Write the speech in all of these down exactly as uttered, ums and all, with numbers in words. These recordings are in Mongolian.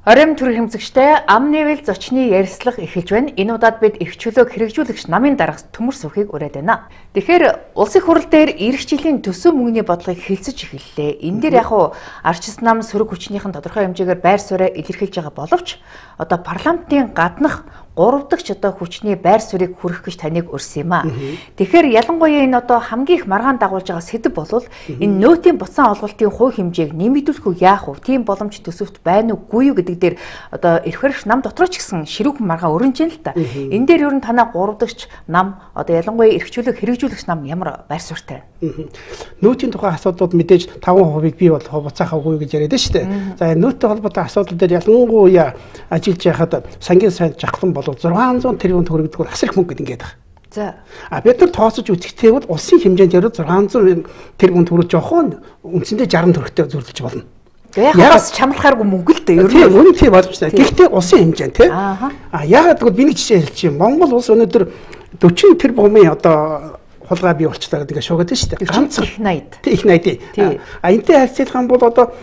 Оройн төр хэмжигчтэй ам нэвэл зочны ярилцлага эхэлж байна. Энэ удаад бид эрх чөлөөг хэрэгжүүлэгч намын дарга төмөр сүхийг ураад байна. Тэгэхээр улсын хурал дээр эх жилийн төсөв мөнгөний бодлогыг хэлцэж эхэллээ. Энэ дээр яг уу арчис нам сөрөг хүчнийхэн тодорхой хэмжээгээр байр суурьа илэрхийлж байгаа боловч одоо парламентын гаднах гурав дахь одоо хүчний байр суурийг хүргэх гэж таныг урьсан юм а. Тэгэхээр ялангуяа энэ одоо хамгийн их маргаан дагуулж байгаа сэдв бол энэ нөөтийн буцаан олголтын хувь хэмжээг нэмэгдүүлэх үү яах вэ? Тийм боломж төсөвт байна уугүй юу гэдэг дээр одоо эрх баригч нам дотор ч гэсэн ширүүхэн маргаан өрнөж байна л та. Энэ дээр ер нь танаа гурав дахь нам одоо ялангуяа эрх чөлөөг хэрэгжүүлэгч нам ямар байр суурьтай байна? Нөөтийн тухай асуудлууд мэдээж таван хувийг бий болох буцаахаагүй гэж яриад шүү дээ. За нөөттэй холбоотой асуудал дээр ялангуяа ажиллаж байхад сангийн сайн жахлан бол зургаан зуун тэрбум төгрөгдөг асар их мөнгө гэдэг байгаа. За. А бид нар тооцож үзэхдээ бол улсын хэмжээнд ярил зургаан зуун тэрбум төгрөг жоохон үндсэндээ жаргал төгрөгтэй зөвлөж болно. Яг бас чамлахааргүй мөнгө л дээ. Ер нь үнэн тийм боломжтой. Гэхдээ улсын хэмжээнд тий. А яагаад гэвэл биний жишээ хэлчих юм. Монгол улс өнөөдөр дөрвөн тэрбумын одоо хулгай бий болчлаа гэдэг шуугаад байна шүү дээ. Ганц их найд. Тий их найд. А энтэй харьцуулах юм бол одоо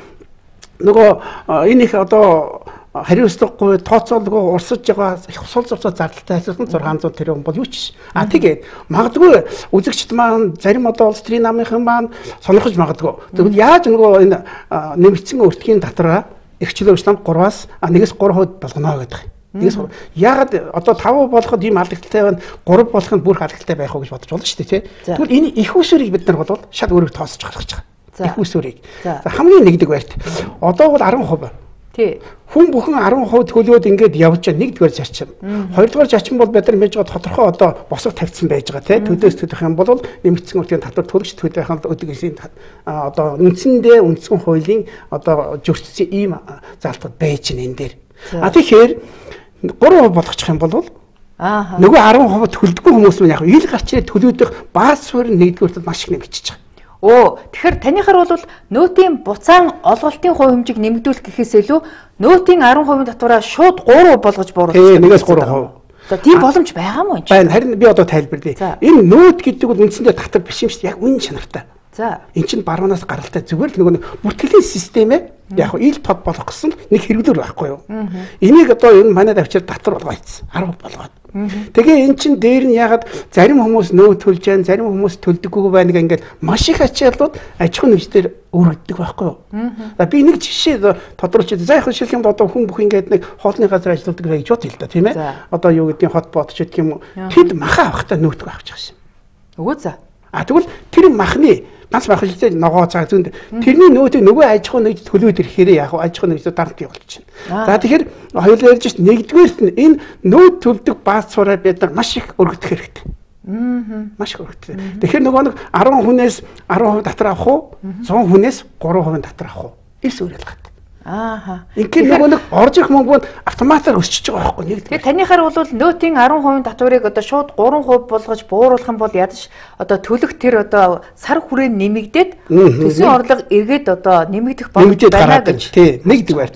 нөгөө энэ их одоо хариуцлагагүй тооцоолгүй урсаж байгаа их сул зурцаа зардалтай хайцсан зургаан зуун тэрбум бол юу ч. А тэгээд магадгүй үзэгчд маань зарим одоо улс төрийн намынхан маань сонирхож магадгүй. Тэгвэл яаж нөгөө энэ нэмэгдсэн өртгийн татраа эрх чөлөөч нам гураваас нэгээс гурав хувьд болгоно гэдэг. Нэгээс яагаад одоо таван болоход ийм алдагтай байна, гурав болоход бүр алдагтай байх уу гэж бодож болно шүү дээ тий. Тэгвэл энэ их усүрийг бид нар бол шал өөрөг тоосож гаргаж байгаа. Их усүрийг. Хамгийн нэгдэг байрт. Одоо бол арван хувь. Тий. Хүн бүхэн арван хувь төлөөд ингээд явж байгаа нэгдүгээр зарчим. Хоёрдугаар зарчим бол бид нар мэдж байгаа тодорхой одоо босго тавьсан байж байгаа тий. Төлөөс төлөх юм бол нэмэгдсэн үртгийн татвар төлөгч төлөх юм бол өдөргийн одоо үндсэндээ үндсэн хуулийн одоо зөрчсөн ийм залтад байж байна энэ дээр. А тэгэхээр гурав хувь болгочих юм бол аа нөгөө арван хувь төлдөггүй хүмүүс нь яг ил гарч ирээд төлөөдөх бааз суурь нэгдүгээрт маш их нэмэгдэж байгаа. Оо тэгэхээр танихаар бол нөөтийн буцаан олголтын хувь хэмжээг нэмэгдүүлэх гэхээс илүү нөөтийн арван хувийн татвараа шууд гурав болгож бууруулах. Тийм нэгээс гурав хувь. За тийм боломж байгаа мó энэ. Байна. Харин би одоо тайлбарлая. Энэ нөөт гэдэг бол үндсэндээ татвар биш юм шүү дээ. Яг үнэн чанартай. За. Эн чинь баруунаас гаралтай зүгээр л нөгөө бүртгэлийн системээ яг ил тод болох гэсэн нэг хэрэглэр байхгүй юу? Энийг одоо энэ манай давчир татвар болгоо ийцсэн. арав болгоод. Тэгээ эн чин дээр нь ягаад зарим хүмүүс нөө төлж जैन, зарим хүмүүс төлдөггүй байна гэнгээд маш их ачааллууд аж ахуйн нөхцөлөөр өргөддөг байхгүй юу? За би нэг жишээ тодруулж за яг шилэх юм одоо хүн бүх ингээд нэг хоолны газар ажилладаг гэж бод хэл та тийм ээ. Одоо юу гэдгийг хот бод ч гэдэг юм уу. Тэд маха авахтаа нөөтгөө авч байгаа юм. Үгүй за. А тэгвэл тэр махны ганц мах хэлтэй ногоо цаа зүүнд тэрний нөөдөө нөгөө аж ахуйн нэгд төлөөд ирэхээр яг аж ахуйн нэгд дарамт явуулчихна. За тэгэхээр хоёулаа ярьж шít нэгдүгээрт нь энэ нөөд төлдөг бааз сураа бид нар маш их өргөдөх хэрэгтэй. Аа. Маш их өргөдөх. Тэгэхээр нөгөө нэг арван хүнээс арван хувь татвар авах уу? зуун хүнээс гурав хувийн татвар авах уу? Эрс өөрөөл гад. Ааха. Ингээд нөгөө нэг орж ирэх мөнгө нь автоматар өсчихөж байгаа байхгүй нэг. Тэгэхээр танихаар бол нөөтийн арван хувийн татварыг одоо шууд гурван хувь болгож бууруулах юм бол ядаж одоо төлөх тэр одоо сар хүрээ нэмэгдээд төсвийн орлого эргээд одоо нэмэгдэх боломж байна гэж. Тий, нэгдэг байр.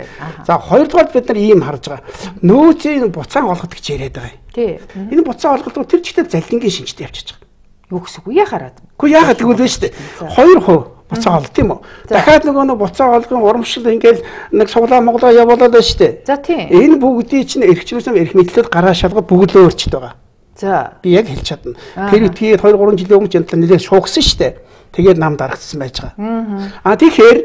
За хоёрдугаар бид нар ийм харж байгаа. Нөөцийн буцаан олгох гэж яриад байгаа юм. Тий. Энэ буцаан олголт тэр чигтээ залингийн шинжтэй явчихж байгаа. Юу гэсэн үг яхаараад. Гэхдээ яагаад тэгвэл вэ шүү дээ. Хоёр хувь буцаа олд тийм үү. Дахиад нөгөө нэг буцаа олгын урамшил ингээл нэг суглаа моглоо явуулаад байна шүү дээ. За тийм. Энэ бүгдийг чинь эрхчлөөс эрх мэдлэлд гараа шалгаад бүгд л өөрчд байгаа. За. Би яг хэлж чадна. Тэр үтгээд хоёр гурван жилийн өмнө jantal нэлээд шуугсан шүү дээ. Тэгээд нам дарагдсан байж байгаа. Аа тэгэхээр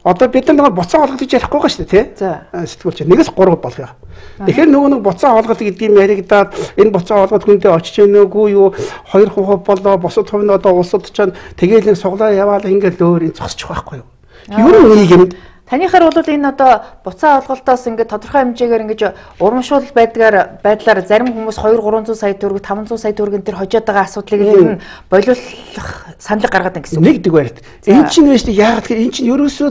одоо бид нар нэг буцаа олголт гэж ярихгүй байгаа шүү дээ тий. За. Сэтгүүлч нэгээс гурав болгоё. Тэгэхээр нөгөө нэг буцаа олголт гэдэг юм яригадаад энэ буцаа олголт хүндээ очиж ийнэгүй юу хоёр хувь болоо босод хувь нь одоо улсад чанд тэгээл нэг суглаа яваал ингээл өөр энэ зогсчих байхгүй юу. Ер нь нийгэмд танихаар бол энэ одоо буцаа олголтоос ингээд тодорхой хэмжээгээр ингээд урамшуул байдгаар байдлаар зарим хүмүүс хоёр гурван зуун сая төгрөг таван зуун сая төгрөгийн тэр хожоод байгаа асуудлыг ер нь болиулах саналыг гаргаад байна гэсэн үг. Нэгдэг байрт. Энэ чинь вэ шүү дээ яагаад гэхээр энэ чинь ерөөсөө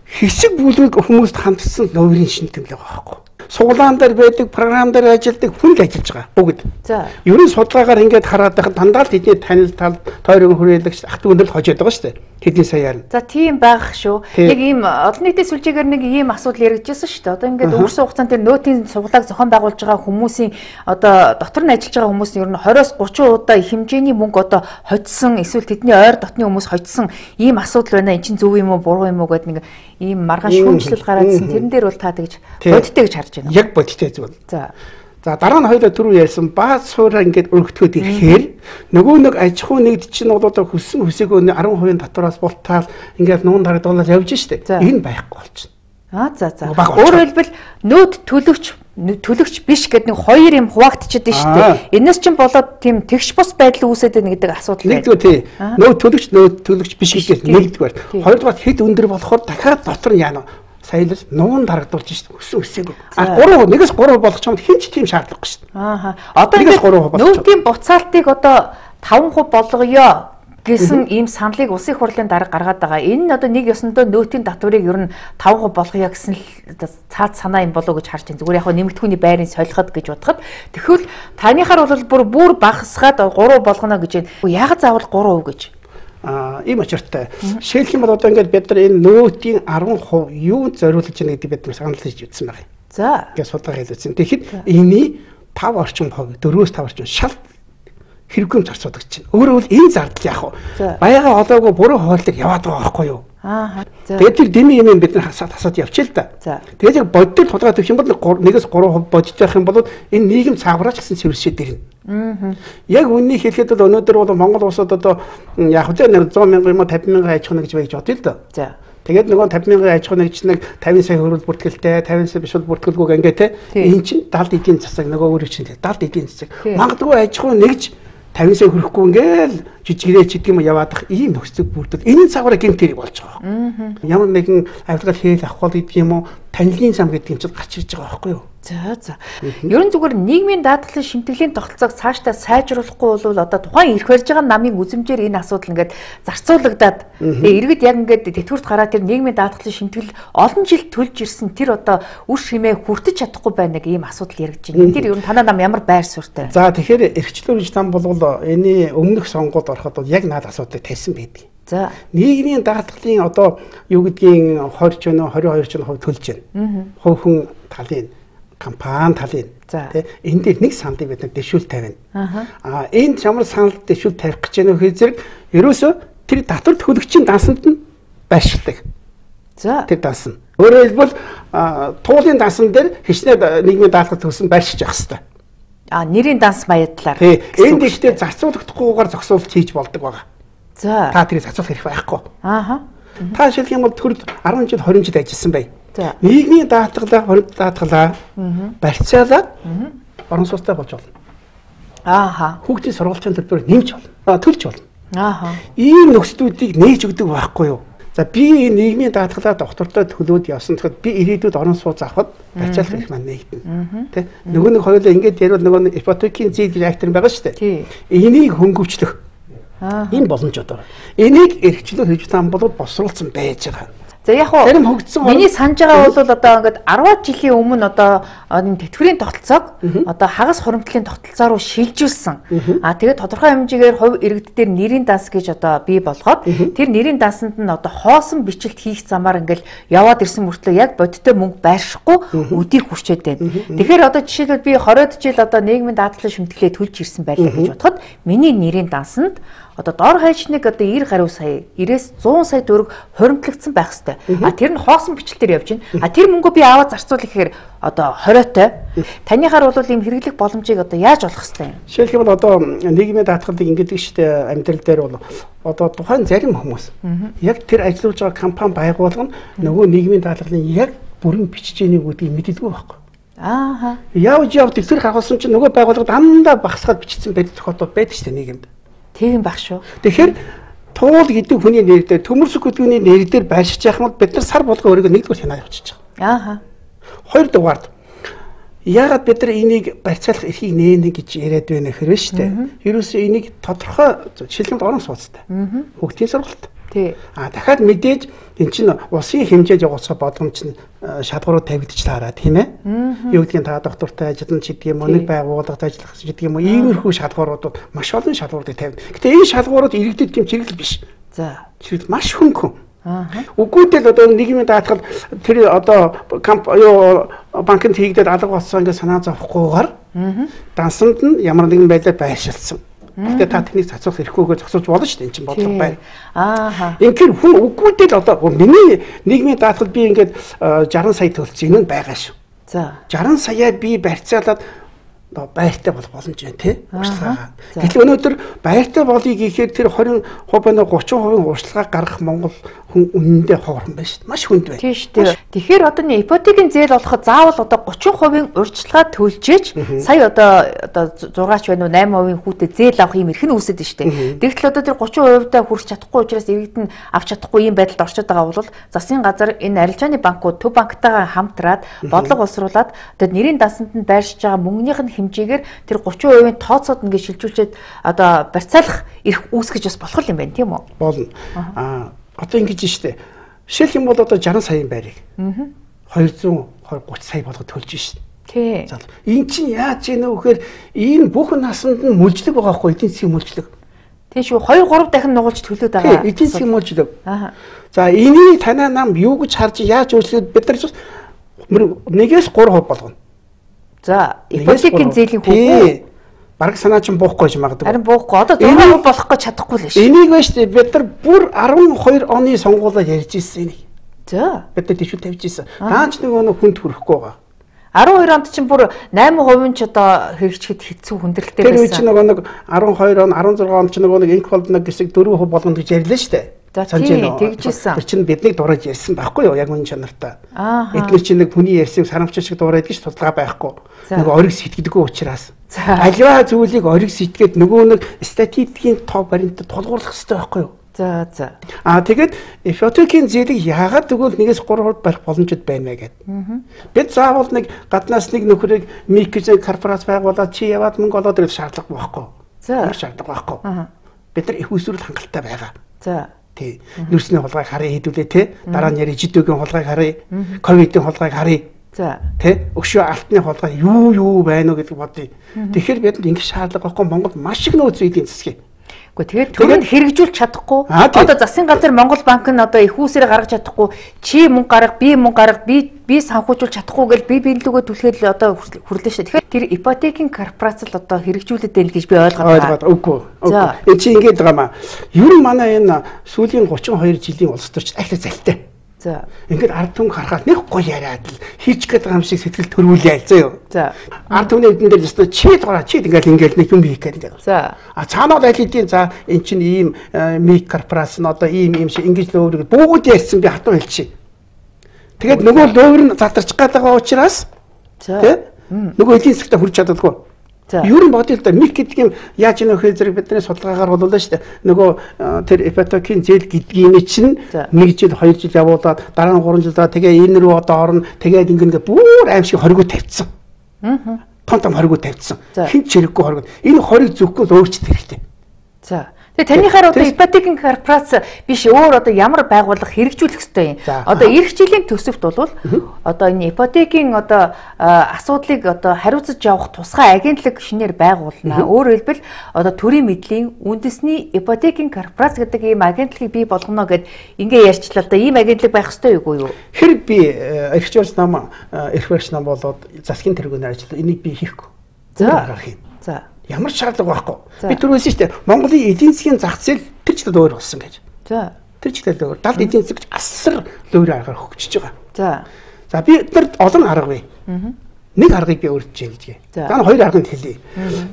хэсэг бүлэг хүмүүст хандсан новрын шин тэмдэг байгаа байхгүй. Суглаан дээр байдаг, програм дээр ажилладаг хүн л ажиллаж байгаа бүгд. За. Ерөн судалгаагаар ингээд хараад байхад дандаа л тэдний танил тал тойрог хүрээлэгч ах дүүндэл хожоод байгаа шүү дээ. Хэдийн саяар. За тийм байх шүү. Нэг ийм олон нийтийн сүлжээгээр нэг ийм асуудал яригдчихсэн шүү дээ. Одоо ингээд өнгөрсөн хугацаанд тэр нөөтийн суглааг зохион байгуулж байгаа хүмүүсийн одоо дотор нь ажиллаж байгаа хүмүүс нь ер нь двадцать тридцать удаа хэмжээний мөнгө одоо хоцсон эсвэл тэдний ойр дотны хүмүүс хоцсон ийм асуудал байна. Энд чинь зөв юм уу буруу юм уу гэдэг нэг ийм маргаан шүүмжлэл гараадсэн. Тэрэн дээр бол та тэгж бодиттой гэж харж байна. Яг бодиттой зүйл. За. За дараа нь хоёулаа түрүү ярьсан бааз суураа ингээд өргөтгөөд ирэхээр нөгөө нэг аж ахуй нэгд чинь бол одоо хүссэн хүсээгүй десять хувийн татвараас бултаал ингээд нуун дарагдуулаад явж штэ. Энэ байхгүй болчихно. Аа за за. Өөрөөр хэлбэл нөөд төлөвч төлөвч биш гэдэг нэг хоёр юм хуваагдчихад байна шүү дээ. Энэс чинь болоод тийм тэгш бус байдал үүсээд байна гэдэг асуудал байна. Нэгдүгээр тий. Нөөд төлөвч нөөд төлөвч биш гэдэг нэгдүгээр. Хоёрдугаар хэд өндөр болохоор дахиад дотор нь яана саялал нуун дарагдуулж шүү дээ. Өссөн өсөөгүй. А гурав нэгээс гурав болгох юм хинч тийм шаардлагагүй шүү дээ. Аа. Одоо ингээд нөөдийн буцаалтыг одоо таван хувь болгоё гэсэн ийм саналыг улсын хурлын дарга гаргаад байгаа. Энэ нь одоо нэг ёсондоо нөөтийн татварыг ер нь таван хувь болгоё гэсэн л цаад санаа юм болов уу гэж харж байна. Зүгээр яг хөө нэмэгдэхүүний байрыг солиход гэж бодоход. Тэгэхвэл танихаар бол бүр бүр багасгаад гурав болгоно гэж байна. Яагаад заавал гурав гэж? А ийм очиртай. Жишээлх юм бол одоо ингээд бид нар энэ нөөтийн десять хувь юунд зориулж байна гэдэг бид санал хийж үзсэн байна. За. Ингээд судалгаа хийлгэсэн. Тэгэхэд энэний пятый орчим хувь дөрвөөс пятый орчим шал хэрэггүй зарцуулдаг чинь. Өөрөөр хэлбэл энэ зардал яах вэ? Баяга олоогүй буруу хуваалцаг яваад байгаа байхгүй юу? Аа. Тэгээд тэр дэмий юм бид нар хасаад хасаад явчихъя л да. Тэгээд яг боддол тулгаад өгөх юм бол нэгээс гурав хувь бодож байх юм бол энэ нийгэм цаагаарч гэсэн цэвэршээд ирнэ. Аа. Яг үннийг хэлэхэд бол өнөөдөр бол Монгол улсад одоо яг л нэг сто мянган юм фifty мянган аж ахуй нэгж байж бодъё л да. За. Тэгээд нөгөө фifty мянган аж ахуй нэгж нэг fifty сая хөрвөл бүртгэлтэй, fifty сая биш бол бүртгэлгүй ингээ те. Энэ чинь даалд эдийн засаг нөгөө өөрөөр чинь даалд эдийн засаг. Магадгүй аж ахуй нэгж fifty сая хүрэхгүй ингээл жижигрээ ч гэдэг юм яваадах ийм нөхцөл бүрдэл энэ цагаараа гэмт хэрэг болж байгаа. Ямар нэгэн авилгал хийх авах гэдэг юм уу танилын зам гэдэг юм чинь гарч ирж байгаа байхгүй юу? За за. Ерөн зүгээр нийгмийн даатгалын шимтгэлийн тогтолцоог цаашдаа сайжруулахгүй бол одоо тухайн ирэх барьж байгаа намын үзмжээр энэ асуудал ингээд зарцуулагдаад иргэд яг ингээд тэтгэврт гараад тэр нийгмийн даатгалын шимтгэл олон жил төлж ирсэн тэр одоо үр шимээ хүртэж чадахгүй байна гэх ийм асуудал яригдж байна. Энэ дэр ерөн танаа нам ямар байр суурьтай? За тэгэхээр эрхчлүүрж там бол энэ өмнөх сонгуульд ороход бол яг наад асуудлыг тавьсан байдаг. За нийгмийн даатгалын одоо юу гэдгийг twenty ч өнөө twenty-two ч хувь төлж байна. Хувь хүн талын компани талын тий энэ дээр нэг саналыг бид нар дэвшүүл тавина. Аа энэ ямар санал дэвшүүл тавих гэж байна вэ зэрэг ерөөсөө тэр татвар төлөгчийн дансанд нь байршилдаг. За тэр дансан. Өөрөөр хэлбэл туулын дансан дээр хичнээн нийгмийн даатгал төлсөн байршиж явах хэрэгтэй. А нэрийн данс маядлаар. Тий энэ дэвштэй зарцуулагдахгүйгээр зогсоолт хийж болдог байгаа. За та тэрийг зарцуулах хэрэг байхгүй. Ааха. Та жишээлх юм бол төрд ten жил twenty жил ажилласан бай. Нийгмийн даатгалаа, хориг даатгалаа барьцаалаад орон сууцтай болж болно. Ааха. Хүүхдийн сургуулийн төлбөрөөр нэмж болно. Төлж болно. Ааха. Ийм нөхцлүүдийг нээж өгдөг байхгүй юу? За би нийгмийн даатгалаа доктортой төлөөд явсан тэгэхэд би ирээдүйд орон сууц авахд барьцаалах их маань нэгдэнэ. Тэ? Нөгөө нэг хоёулаа ингэж ярил нөгөө ипотекийн зээл реактор байгаа шүү дээ. Энийг хөнгөвчлөх ийм боломжууд байна. Энийг эрхчлөө хийж таам бол босруулсан байж байгаа. За яг хоо миний санаж байгаа бол одоо ингээд ten жилийн өмнө одоо энэ тэтгэврийн тогтолцоог одоо хагас хуримтлалын тогтолцоо руу шилжүүлсэн. А тэгээд тодорхой хэмжээгээр хувь иргэд дээр нэрийн данс гэж одоо бий болгоод тэр нэрийн дансанд нь одоо хоосон бичлэлт хийх замаар ингээд яваад ирсэн мөртлөө яг бодиттой мөнгө байршихгүй өдийг хүрчээд байна. Тэгэхээр одоо жишээлбэл би twenty жил одоо нийгмийн даатгалын шимтгэлээ төлж ирсэн байлаа гэж бодоход миний нэрийн дансанд одоо дор хаяж нэг одоо ninety гаруй сая ninety-ээс one hundred сая төгрөг хуримтлагдсан байх хэвээр. А тэр нь хоосон бичлэлээр явж байна. А тэр мөнгөө би аваад зарцуулах гэхээр одоо twenty-той. Танихаар бол ийм хэрэглэх боломжийг одоо яаж олох хэвээр юм? Жишээлх юм бол одоо нийгмийн даатгалыг ингэдэг шүү дээ амьдрал дээр бол одоо тухайн зарим хүмүүс яг тэр ажиллаж байгаа компани байгуулгын нөгөө нийгмийн даатгалын яг бүрэн бичжээнийг үүдгийг мэддэггүй байхгүй. Ааха. Явж явж тэр хагасан чинь нөгөө байгууллага дандаа багсгаад бичсэн байдаг тохиолдол байдаг шүү дээ нийгэмд. Тийм баг шүү. Тэгэхээр туул гэдэг хүний нэр дээр төмөрсөх гэдгүүний нэр дээр байршиж яах юм бол бид нар сар болгоо өөрийгөө нэгдүгээр хянаа явчихж байгаа. Ааха. Хоёрдугаард яагаад бид нар энийг барьцаалах эрхийг нээнэ гэж яриад байна хэрвээ шүү дээ. Ерөөсөө энийг тодорхой жишээлбэл орон сууцтай. Хүүхдийн сургалт. Тий. А дахиад мэдээж эн чинь улсын хэмжээд явуулсан боломж нь шалгуурууд тавигдчих таараа тийм ээ. Юу гэдгийг та доктортой ажиллана ч гэдэг юм уу, нэг байгууллагад ажиллах ч гэдэг юм уу, иймэрхүү шалгууруудад маш олон шалгууруудыг тавина. Гэтэ энэ шалгуурууд иргэдэд тийм чиглэл биш. За. Чирэл маш хөнгөн. Аа. Үгүйтэл одоо нийгмийн даатгал тэр одоо камп юу банкнд хийгдээд алга болсон ингээд санаа зовхгүйгээр дансанд нь ямар нэгэн байдлаар байршилсан. Гэтэ та тэнийг цацуулах хэрэггүйгээр зогсуулж болно шүү дээ. Энд чинь бодлого байна. Аа. Инхээр хүн үгүйтэл одоо миний нийгмийн даатгал би ингээд шаран сая төлсөн энэ нь байгаа шүү. За. шаран саяар би барьцаалаад байртай болох боломж байна тий. Урьдчилгаа. Гэтэл өнөөдөр байртай болъё гэхээр тэр двадцать хувь гучин хувийн урьдчилгаа гаргах Монгол хүн үнэндээ ховорхон байна шүү дээ. Маш хүнд байна. Тийм шүү дээ. Тэгэхээр одоо нэг ипотекийн зээл болоход заавал одоо гучин хувийн урьдчилгаа төлжээж сая одоо одоо зургаач байна уу найман хувийн хүүтэй зээл авах юм эрх нь үүсэт шүү дээ. Тэгтэл одоо тэр гучин хувьдаа хүрч чадахгүй учраас иргэд нь авч чадахгүй юм байдалд орчод байгаа бол засгийн газар энэ арилжааны банкуд төв банктайгаа хамтраад бодлого боловсруулад одоо нэрийн дансанд нь байршиж байгаа мөнгөнийх нь хэмжээгээр тэр гучин хувийн тооцоод ингээд шилжүүлчихэд одоо барьцаалах эрх үүсгэж бас болох юм байна тийм үү? Болно. Аа одоо ингэж штэ. Жишээлх юм бол одоо шаран саяын байрыг two hundred thirty сая болгоод төлж штэ. Тий. За энэ чинь яаж ийнэ вэ гэхээр энэ бүх насанд нь мүлжлэг байгаа хгүй эдийн засгийн мүлжлэг. Тийм шүү two three дахин нугалж төлөөд байгаа. Эдийн засгийн мүлжлэг. Аа. За энийг танаа нам юу гэж харж яаж өөрчлөөд бид нар нэгээс three percent болгоно. За ипотекийн зээлийн хүүг бараг санаа чинь буухгүй юм магадгүй. Харин буухгүй. Одоо six percent болох гэж чадахгүй л шүү. Энийг байж бид нар бүр twelve оны сонгуулиар ярьж ирсэн энийг. За. Бид нар тийш тавьж ирсэн. Даанч нөгөө нэг хүнд хүрэхгүй байгаа. twelve онд чинь бүр eight percent ч одоо хэрэгжихэд хэцүү хүндрэлтэй байсан. Тэр үе чинь нөгөө нэг twelve он, sixteen он чинь нөгөө нэг инк болдног гэсэн four percent болгоно гэж ярьлаа шүү дээ. За тийм тэгжсэн. Тэр чинь биднийг дураж ярьсан байхгүй юу? Яг үнэн чанартай. Аа. Эдгээр чинь нэг хүний ярьсыг сарамч шиг дураад гэж тулгаа байхгүй. Нөгөө ориг сэтгэдэггүй учраас. Аливаа зүйлийг ориг сэтгэгээд нөгөө нэг статистикийн тоо баримт тулгуурлах хэрэгтэй байхгүй юу? За за. Аа тэгээд ипотекийн зээлийг яагаад тэгвэл нэгээс three percent барих боломжтой байна вэ гэдэг. Бид заавал нэг гаднаас нэг нөхрийг микроз корпорац байгуулаад чи яваад мөнгө олоод ирэх шаардлага байхгүй. За. Шаардлага байхгүй. Бид нар их усрал хангалттай байгаа. За. Тий. Нүүрсний холгойг харъя хэдүүлээ тий. Дараа нь яри жидүүгийн холгойг харъя. Ковидын холгойг харъя. За. Тий. Өшөө алтны холгой юу юу байна уу гэдэг бодъё. Тэгэхээр бидэнд ингэ шаардлага байхгүй Монгол маш их нөөц эдийн засгийн. Гэхдээ тэгээд хэрэгжүүлж чадахгүй. Одоо засгийн газар Монгол банк нь одоо их үүсээр гаргаж чадахгүй. Чи мөнгө гарга, би мөнгө гарга, би би санхүүжүүлж чадахгүй гэж би биелүүгөө түлхээд л одоо хүрлээ шүү. Тэгэхээр тэр ипотекийн корпорац л одоо хэрэгжүүлээд байл гэж би ойлгоод байгаа. Үгүй. Энд чи ингэж байгаа маа. Ер нь манай энэ сүүлийн thirty-two жилийн улс төрч ахлаа залтай. За. Ингээд ард түмэг харахад нэг гоё яриад л хийч гээд байгаа юм шиг сэтгэл төрүүлээ зөө. За. Ард түмний эдэн дээр өстө чи дураа чи ингээд ингээд нэг юм хийх гэдэг. За. А цаанаа айл хэдийн за эн чинь ийм мик корпорац нь одоо ийм юм шиг ингэж лөөврөг бүгд ярьсан би хатуу хэлчихье. Тэгээд нөгөө лөөвөр нь задарч байгаа учраас тий нөгөө эдийн засгт хүрч чаддаггүй. Ер нь бодъё л да мик гэдэг юм яаж ийм нөхөр зэрэг бидний судалгаагаар боллоо шүү дээ. Нөгөө тэр ипотекийн зээл гэдгийг чинь нэг жил two жил явуулаад дараа нь three жилдаа тэгээ энэ рүү одоо орно тэгээд ингээд бүр аимшиг хоригоо тавьчихсан. Аа. Том том хоригоо тавьчихсан. Хэн ч хэрэггүй хоригоо. Энэ хориг зөвхөн л өөрчлөлт хэрэгтэй. За. Тэгээ танийхаар одоо ипотекийн корпорац биш өөр одоо ямар байгууллага хэрэгжүүлэх ёстой юм. Одоо эх жилийн төсөвт бол одоо энэ ипотекийн одоо асуудлыг одоо хариуцаж явах тусгай агентлаг шинээр байгуулна. Өөрөөр хэлбэл одоо төрийн мэдлийн үндэсний ипотекийн корпорац гэдэг ийм агентлагийг бий болгоно гэд ингээ ярьчлаа л да. Ийм агентлаг байх ёстой юу юу? Хэрэг би эрх зүйн нам эрх барьж нам болоод засгийн тэргүүнээр ажиллаа. Энийг би хийхгүй. За. За. Ямар ч шаардлага байхгүй. Би түрүүсэн шүү дээ. Монголын эдийн засгийн зах зээл тэр ч өөр болсон гэж. За. Тэр ч өөр. Далд эдийн засаг асар лөөрийн аргаар хөгжиж байгаа. За. За би тэр олон арга бай. Нэг аргыг би өөрчилж хэлье. За нь хоёр аргыг хэлье.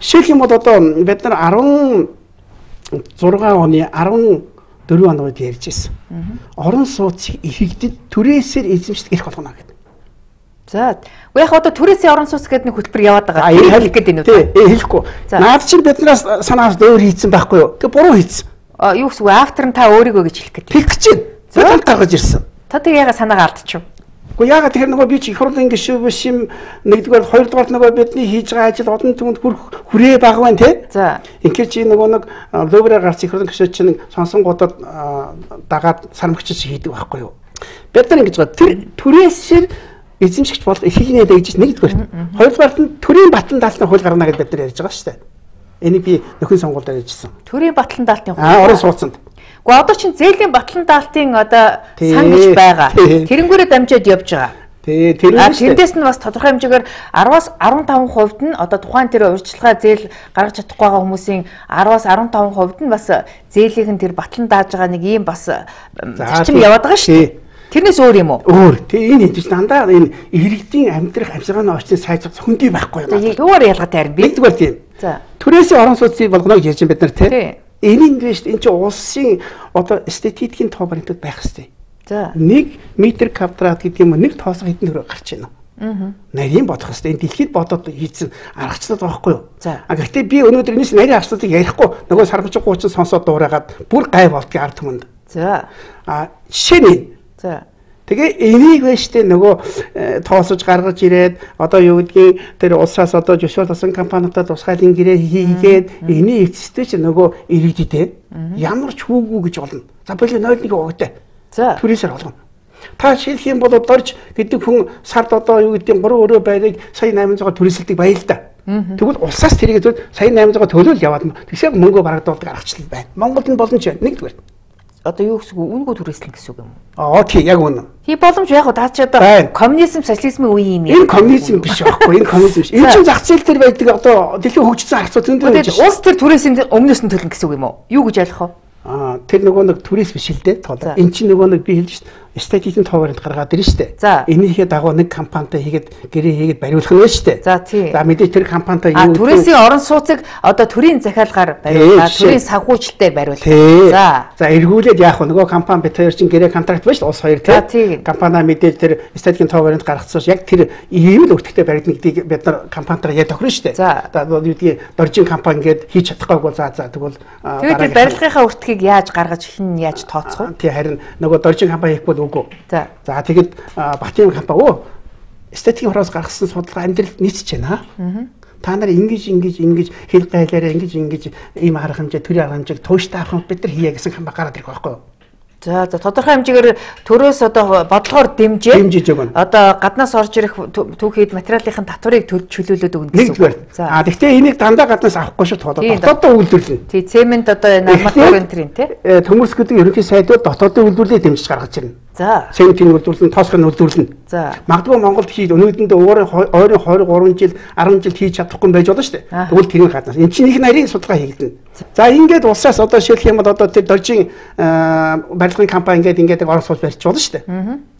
Жишээлх юм бол одоо бид нар sixteen оны fourteen онд ярьж ирсэн. Орон сууцыг ихэгдэд түрээсээр эзэмшдэг эрх болгоно гэдэг. За. Яг одоо түрээсээ орон сууц гэдэг нэг хөтөлбөр яваад байгаа. Энэ хэлэх гээд байна уу? Тий, хэлэхгүй. Наад чинь биднээс санаас өөр хийцэн байхгүй юу? Тэг буруу хийцэн. А юу гэсэн вэ? Автор нь та өөрийгөө гэж хэлэх гээд. Хэлэх гэж байна. За гаргаж ирсэн. Та тэг яга санаагаа алдчих. Уу яга тэгэхээр нөгөө би чи их хурлын гишүү биш юм. Нэгдүгээр хоёрдугаар нөгөө бидний хийж байгаа ажил одон түмэнд хүрээ баг байна тий. За. Инхээр чи нөгөө нэг лөврээр гарч их хурлын гишүү чинь сонсонгуудад дагаад сармагч шиг хийдэг байхгүй юу? Бид нар ингэж байгаа. Тэр түрээсээр эзэмшигч бол эхлэнээ дэгж нэгдүгээр. Хоёрдугаар нь төрийн батлан даалтны хууль гарна гэдээ бид нар ярьж байгаа шүү дээ. Энийг би нөхөн сонгуульд ярьжсэн. Төрийн батлан даалтны хууль. Аа, орон сууцанд. Гэхдээ одоо чинь зээлийн батлан даалтын одоо сан гэж байгаа. Тэрнгүүрээ дамжаад явж байгаа. Тэгээ тэр нь тэндээс нь бас тодорхой хэмжээгээр араваас арван таван хувьд нь одоо тухайн тэр урьдчилгаа зээл гаргаж чадахгүй байгаа хүмүүсийн араваас арван таван хувьд нь бас зээлийнх нь тэр батлан дааж байгаа нэг ийм бас зарчим яваад байгаа шүү дээ. Тэрнээс өөр юм уу? Өөр. Тэгээ энэ хэвчээ дандаа энэ иргэдийн амьдрах амьсгалын орчныг сайжруулах хүндий байхгүй юм. Юугаар ялгаатай харин би. Нэгдүгээр тийм. За. Түрээсийн орон сууцыг болгоно гэж ярьж бид нар тийм. Энэ нь биш энэ чинь улсын одоо эстетикийн тоо баримтад байх хэрэгтэй. За. Нэг метр квадрат гэдэг юм нэг тоосго хэдэн төгрөг гарч байна. Аа. Нарийн бодох хэрэгтэй. Энэ дэлхийд бодоод хийсэн аргачлал байхгүй юу? За. А гэхдээ би өнөөдөр энэс нарийн аргачлалыг ярихгүй нөгөө сарбаж гуучин сонсоод дуурайгаад бүр гай болдгийг ард түмэнд. За. А жишээ нь. За. Тэгээ энийг бэштэй нөгөө тоосож гаргаж ирээд одоо юу гэдгийг тэр улсаас одоо жишээл тасан компаниудад тусгайлын гэрээ хийгээд энийг эцэстээ ч нөгөө иргэдэд ямар ч хүүгүү гэж болно. За болоо нойл нэг өгдөө. За. Түрээсээр болгоно. Та шилэх юм бол дорж гэдэг хүн сард одоо юу гэдэг гурван өрөө байрыг сая найман зугаар түрээсэлдэг баяа л да. Тэгвэл улсаас тэрийг зөв сая найман зугаар төлөөл яваад тэгсээ мөнгө барагдуулдаг аргачлал байна. Монголд нь боломж байна. Нэгдүгээр. Одоо юу гэсэн үг үнэгүй түрээслэн гэсэн үг юм уу? Аа тий яг үнэ. Хий боломж яг удаа ч одоо коммунизм социализмын үе юм юм. Энэ коммунизм биш байхгүй. Энэ коммунизм биш. Энэ чинь зах зээл дээр байдаг одоо дэлхийн хөгжсөн харцуу зөндөө байж. Улс төр түрээсийн өмнөөс нь төлнө гэсэн үг юм уу? Юу гэж ойлгох вэ? Аа тэр нөгөө нэг түрээс биш л дээ. Энд чинь нөгөө нэг би хэлж шээ. Эстетикийн тоо баримт гаргаад ирнэ штэ. Энийхээ дагуу нэг компанитай хийгээд гэрээ хийгээд бариулах нь штэ. За тий. За мэдээж тэр компанитай юу түрээсийн орон сууцыг одоо төрийн захиалгаар бариулаад төрийн санхүүжилтээр бариулах. За. За эргүүлээд яах вэ? Нөгөө компани бид хоёр чинь гэрээ контракт байна шүү дээ. Улс хоёр тий. Компани мэдээж тэр эстетикийн тоо баримт гаргацсан яг тэр ийм л өртөгтэй баригдана гэдгийг бид нар компанитайгаа яд тохирно штэ. За юу гэдгийг доржин компани ингээд хийж чадахгүй бол за за тэгвэл тэгээд барилгынхаа өртгийг яаж гаргаж хин яаж тооцох вэ? Тий харин нөгөө доржин компани хийхгүй үгүй. За. За тэгэд Батын компани оо эстетикийн хороос гаргасан судалгаа амьдралд нийцэж байна. Та нар ингэж ингэж ингэж хэл гайлаараа ингэж ингэж ийм арга хэмжээ төрийн арга хэмжээг тууштай авах бид нар хийя гэсэн компани гараад ирэх байхгүй юу? За за тодорхой хэмжээгээр төрөөс одоо бодлогоор дэмжээ. Дэмжиж өгнө. Одоо гаднаас орж ирэх түүхийд материалын татварыг чөлөөлөд өгнө гэсэн үг. А гэхдээ энийг дандаа гаднаас авахгүй шүү дээ. Дотоодоо үйлдвэрлэнэ. Тий, цемент одоо нормал төрийн тий. Төмөрс гэдэг ерөнхий сайдууд дотоодоо үйлдвэрлэлээ дэмжиж гаргаж ирнэ. За. Цементийн үйлдвэрлэн, тоосхын үйлдвэрлэн. За. Магадгүй Монголд хийж өнөөдөндөө өөрийн ойрын двадцать три жил, арван жил хийж чадахгүй байж болно шүү дээ. Тэгвэл тэрний гаднаас энэ чинь их нарийн судалгаа хийгдэнэ. За ингээд улсаас одоо шилэх юм бол одоо тэр доржин барилгын компани ингээд ингээд орон сууц барьж болно шүү дээ.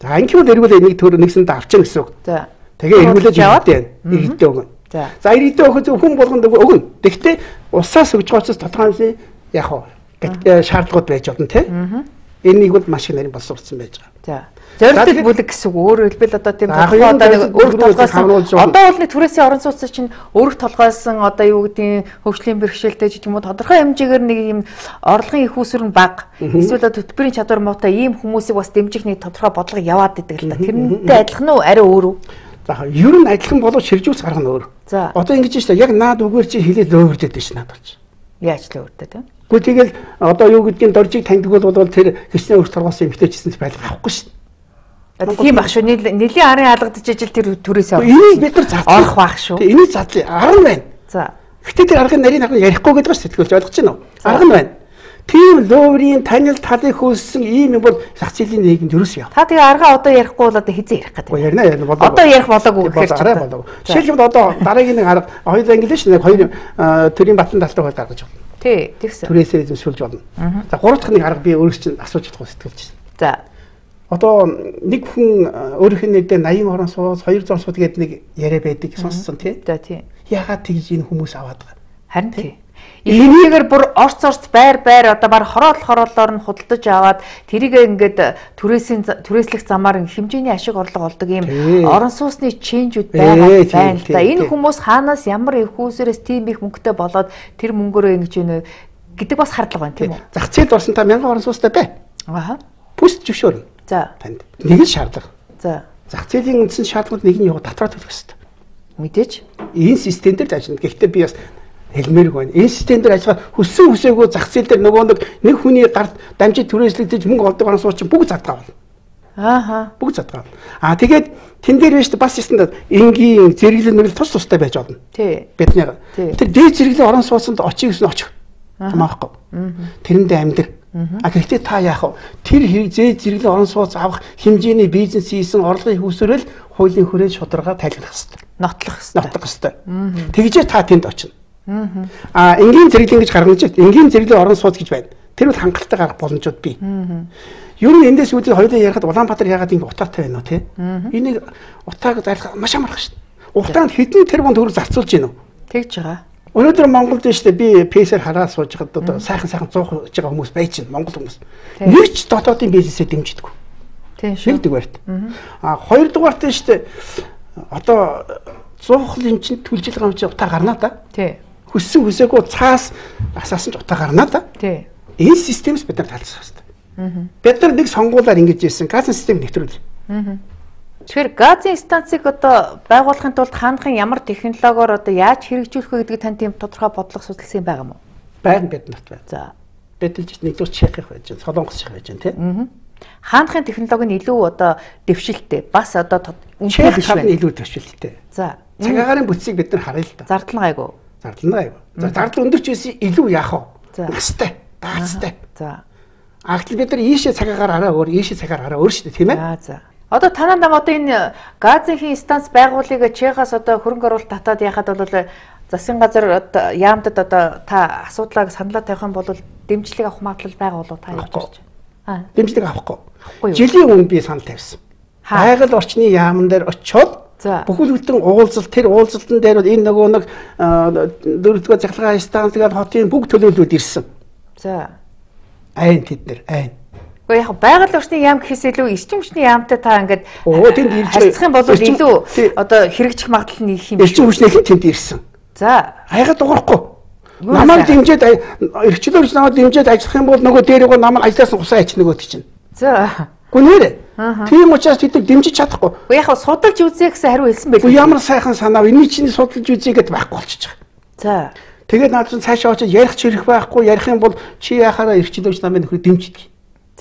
За ингээд эргүүлээ нэг төр нэгсэнд авчихна гэсэн үг. За. Тэгээ эргүүлээд иргэдээ иргэдээ өгнө. За. За иргэдээ өгөх хүн болгонд өгнө. Тэгэхдээ улсаас өгж байгаа учраас тодорхой яг хаа шаардлагууд байж болно тий. Энийг бол маш их нарийн боловсруулсан байж байгаа. За. Зорилттой бүлэг гэсэн үг. Өөрөөр хэлбэл одоо тийм тодорхой одоо нэг өрх толгойсон. Одоо бол нэг түрээсийн орон сууц чинь өрх толгойсон одоо юу гэдгийг хөгжлийн бэрхшээлтэй ч юм уу тодорхой хэмжээгээр нэг юм орлогын их усүр нь бага. Эсвэл төтөлбөрийн чадвар муутай ийм хүмүүсийг бас дэмжих нэг тодорхой бодлого яваад идэг л да. Тэрнтэй адилхан уу? Арай өөр үү? За ер нь адилхан болов ширжүүлс гаргана өөр. За. Одоо ингэж шүү дээ. Яг наад үгээр чи хэлээд өөрөөрдөд дээ ш наад болж. Яаж л өөрөдөө тийм. Гэхдээ тэгэл одоо юу гэдгийг доржиг таньдаг бол тэр хэсний өрх торгоосон эмгтээчсэн байлга авахгүй шүү дээ. Тийм баг шүү. Нэлийн арын хаалгадж ижил тэр түрээсээ авах. Энийг бид нар задлаа. Орох байх шүү. Энийг задлаа. Арга нь байна. За. Гэхдээ тэр аргын нарийн арга ярихгүй гэдэг ба сэтгэлж ойлгож байна уу? Арга нь байна. Тийм лөөврийн танил талыг хөөссөн ийм юм бол зах зээлийн нийгэмд юу юм? Та тэгээ арга одоо ярихгүй бол одоо хизээ ярих гэдэг. Ярина ярина болоо. Одоо ярих болоогүй гэхээр арай болоо. Жишээлбэл одоо дараагийн нэг арга хоёул англи шүү. Нэг хоёр төрийн батлан талтаа хол гаргаж байна. Тий, тэгсэн. Түрээсээ эзэмшүүлж болно. За гурав дахь нэг арга би өөрөөс чинь асууж чадахгүй сэтгэлж байна. За. Одоо нэг хүн өөрийнх нь нэрдээ восемь орон сууц, хоёр зур сууд гэдэг нэг яриа байдаг сонссон тий. За тий. Ягаад тэгж энэ хүмүүс аваад байгаа? Харин тий. Энийгээр бүр орц орц байр байр одоо баг хороол хороолоор нь худалдаж аваад тэрийг ингээд түрээсийн түрээслэх замаар хэмжээний ашиг орлого олдог юм орон сууцны ченжүүд байгаа байна л да. Энэ хүмүүс хаанаас ямар их хүүсээрээс тийм их мөнгөтэй болоод тэр мөнгөөрөө ингэж ийнэ гэдэг бас хардлага байна тийм үү? Зах зээлд орсон та мянган орон сууцтай бай. Аха. Бүс зөвшөөрнө. За. Танд. Нэг л шаардлага. За. Зах зээлийн үндсэн шаардлагууд нэг нь яваа татвар төлөх хэрэгтэй. Мэдээж. Энэ систем дээр ажиллана. Гэхдээ би бас хэлмээрг байна. Энэ систем дээр ажиллах хүссэн хүсээгүй зах зээл дээр нөгөө нэг нэг хүний гарт дамжид түрээслэгдэж мөнгө олдог орон сууц чинь бүгд задгаа болно. Ааха. Бүгд задгаа. Аа тэгээд тэн дээр биш бас ясна энгийн зэрэглэл мэрэл тус тустай байж болно. Тий. Бидний тэр дээд зэрэглэлийн орон сууцанд очиж гэсэн очих. Хамаахгүй. Тэрэндээ амьдрах. А гэхдээ та яах вэ? Тэр хэрэг зээл зэрэглэлийн орон сууц авах хэмжээний бизнес хийсэн орлогын хүсрэл хуулийн хүрээнд шударга тайлбарлах хэрэгтэй. Нотлох хэрэгтэй. Нотлох хэрэгтэй. Тэгжээ та тэнд очино. А энгийн зэрэглэн гэж гаргаж байна. Энгийн зэрэглэлийн орон сууц гэж байна. Тэр бол хангалттай гарах боломжууд бий. Ер нь эндээс үүдээ хоёулаа ярихад Улаанбаатар яагаад ингэ утаатай байна вэ те? Энийг утааг зайлах маш амарх шин. Утаанд хэдэн тэрбум төгрөг зарцуулж гинөө. Тэгж байгаа. Өнөөдөр Монголд нь шүү дээ би пэсээр хараад сууж байхад одоо сайхан сайхан зуух гэж байгаа хүмүүс байж байна. Монгол хүмүүс. Нэг ч дотоодын бизнесээ дэмжидэггүй. Тийм шүү. Нэгдүгээрт. А хоёрдугаарт нь шүү дээ одоо зуухлын чинь түлжил гамч утаа гарнаа да. Тий. Хүссэн хүсээгүй цаас асаасан ч утаа гарнаа да. Тий. Энэ системс бид нар талцах хэрэгтэй. Бид нар нэг сонгуулаар ингэж ийсэн газын систем нэвтрүүл. Тэгэхээр газын станцыг одоо байгуулахын тулд хаанхын ямар технологиор одоо яаж хэрэгжүүлэх вэ гэдэг тань тийм тодорхой бодлого судалсан байгаа юм уу? Байна биднэрт байна. За. Бидэлж нэгдүгээр Чехих байж байна, Солонгос шиг байж байна тийм. Хаанхын технологи нь илүү одоо дэвшилттэй. Бас одоо үнэтэй биш байна. Илүү дэвшилттэй. За. Цагаагаарын бүтцийг бид нар харъя л да. Зардал гайгүй. Зардал гайгүй. За зардал өндөр ч байсан илүү яах вэ? За. Настай, даацтай. За. Агтл бид нар ийшээ цагаагаар араа өөр, ийшээ цагаар араа өөр шүү дээ тийм ээ? За за. Одоо танаа нам одоо энэ газын станц байгуулыг Чехаас одоо хөрөнгө оруулалт татаад яхад бол засгийн газар яамдад одоо та асуудлаа саналаа тавих юм бол дэмжлэг авах магадлал байгаа болов та яаж харж байна? Дэмжлэг авахгүй. Жилийн өмнө би санал тавьсан. Байгаль орчны яамн дээр очиод бүхэл бүтэн уулзалт тэр уулзалтан дээр бол энэ нөгөө нэг дөрөвдүгээр захлагаа станц гэдэг хотын бүх төлөөллүүд ирсэн. За. Айн тэд нар айн. Гэхдээ яг байгаль орчны яам гэхээс илүү эрчим хүчний яамтай та ингээд оо тэнд ирж харьцах юм бол илүү одоо хэрэгжих магадлал нь их юм. Эрчим хүчнийх нь тэнд ирсэн. За. Хайгаад дуурахгүй. Намайг дэмжиж эрхчлөлж намайг дэмжиж ажиллах юм бол нөгөө дээр гоо намайг ажлаас нь усаа ич нөгөөд чинь. За. Гүнээр. Тийм учраас тэд дэмжиж чадахгүй. Уу яг судалж үзье гэсэн хариу хэлсэн байл. Уу ямар сайхан санаа энэ чинь судалж үзье гэдээ байхгүй болчихж За. байгаа. Тэгээд наад чинь цаашаа очиж ярих ч ирэх байхгүй ярих юм бол чи яхаараа эрхчлөлж намайг нөхөр дэмждэг.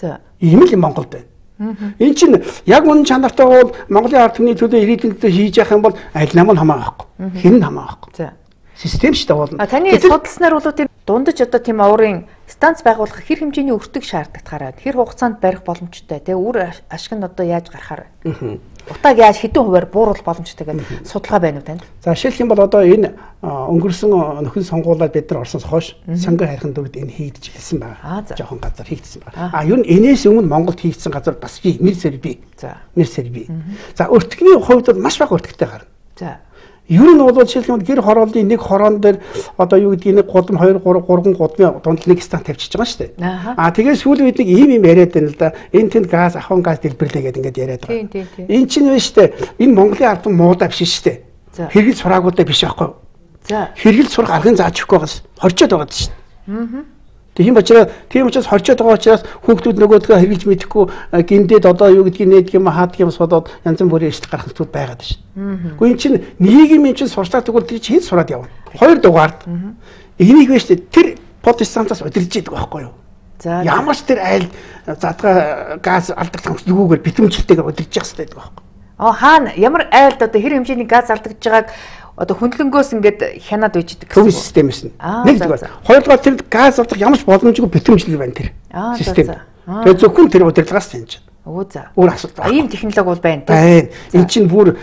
За. Ийм л Монголд байна. Энэ чинь яг үнэн чанартай бол Монголын ард түмний төлөө ирээдүйн төлөө хийж явах юм бол аль нам нь хамаагүй. Хэн нь хамаагүй. За. Систем шүү дээ болно. А таны судалснаар бол тийм дундаж одоо тийм оврын станц байгуулах хэр хэмжээний өртөг шаардлагатаараа хэр хугацаанд барих боломжтой те үр ашиг нь одоо яаж гарахаар вэ? Утааг яаж хэдэн хувиар бууруулах боломжтой гэдэг судалгаа байна уу танд? За жишээлх юм бол одоо энэ өнгөрсөн нөхөн сонгуулиуд бид нар орсоос хойш сангийн хайрхан төвд энэ хийгдэж эхэлсэн байна. Жохон газар хийгдсэн байна. А ер нь энэс өмнө Монголд хийгдсэн газар бас би мэрсэр би. За мэрсэр би. За өртгөний хувьд бол маш бага өртөгтэй гарна. За ер нь бол жишээлх юм гэр хорооллын нэг хороон дээр одоо юу гэдгийг нэг гудам хоёр гурав гурван гудмын дунд нэг станц тавьчихж байгаа шүү дээ. Аа тэгээд сүүлийн үед нэг ийм юм яриад байна л да. Энэ тэнд газ ахын газ дэлбэрлээ гэдэг ингээд яриад байгаа. Тийм тийм тийм. Энэ чинь вэ шүү дээ. Энэ Монголын ард түмэн муудаа биш шүү дээ. Хэрэгэл сураагуудаа биш байхгүй юу? За. Хэрэгэл сурах аргын зааж өгөхгүй байгаас хорчоод байгаа шүү дээ. Аа. Тийм учраас тийм учраас хорчоод байгаа учраас хүүхдүүд нөгөөдгөө хэрглэж мэдэхгүй гиндээд одоо юу гэдгийг нээдэг юм хаадаг юм судаад янз бүрийн эрсдэл гарах зүйл байгаад байна шүү. Гэхдээ эн чинь нийгмийн чинь сурчлаа тэгвэл тэр чинь хэд сураад явна. Хоёр дугаард энийг вэ шүү дээ. Тэр протестантаас удирдж идэг байхгүй юу? За ямар ч тэр айл задгаа газ алдагдах нүгээр битэмжлэлтэйгээр удирдж явах хэрэгтэй байдаг байхгүй. Аа хаана ямар айлд одоо хэр хэмжээний газ алдагдж байгааг одоо хөндлөнгөөс ингээд хянаад үйждэг гэсэн системээс нь. Нэгдүгээр. Хоёрдугаар тэр газ авах ямар ч боломжгүй битэмжлэг байна тэр систем. Тэгээд зөвхөн тэр удирдлагаас таньж. Оо за. Өөр асуудал. Ийм технологи бол байна тийм. Байна. Энд чинь бүр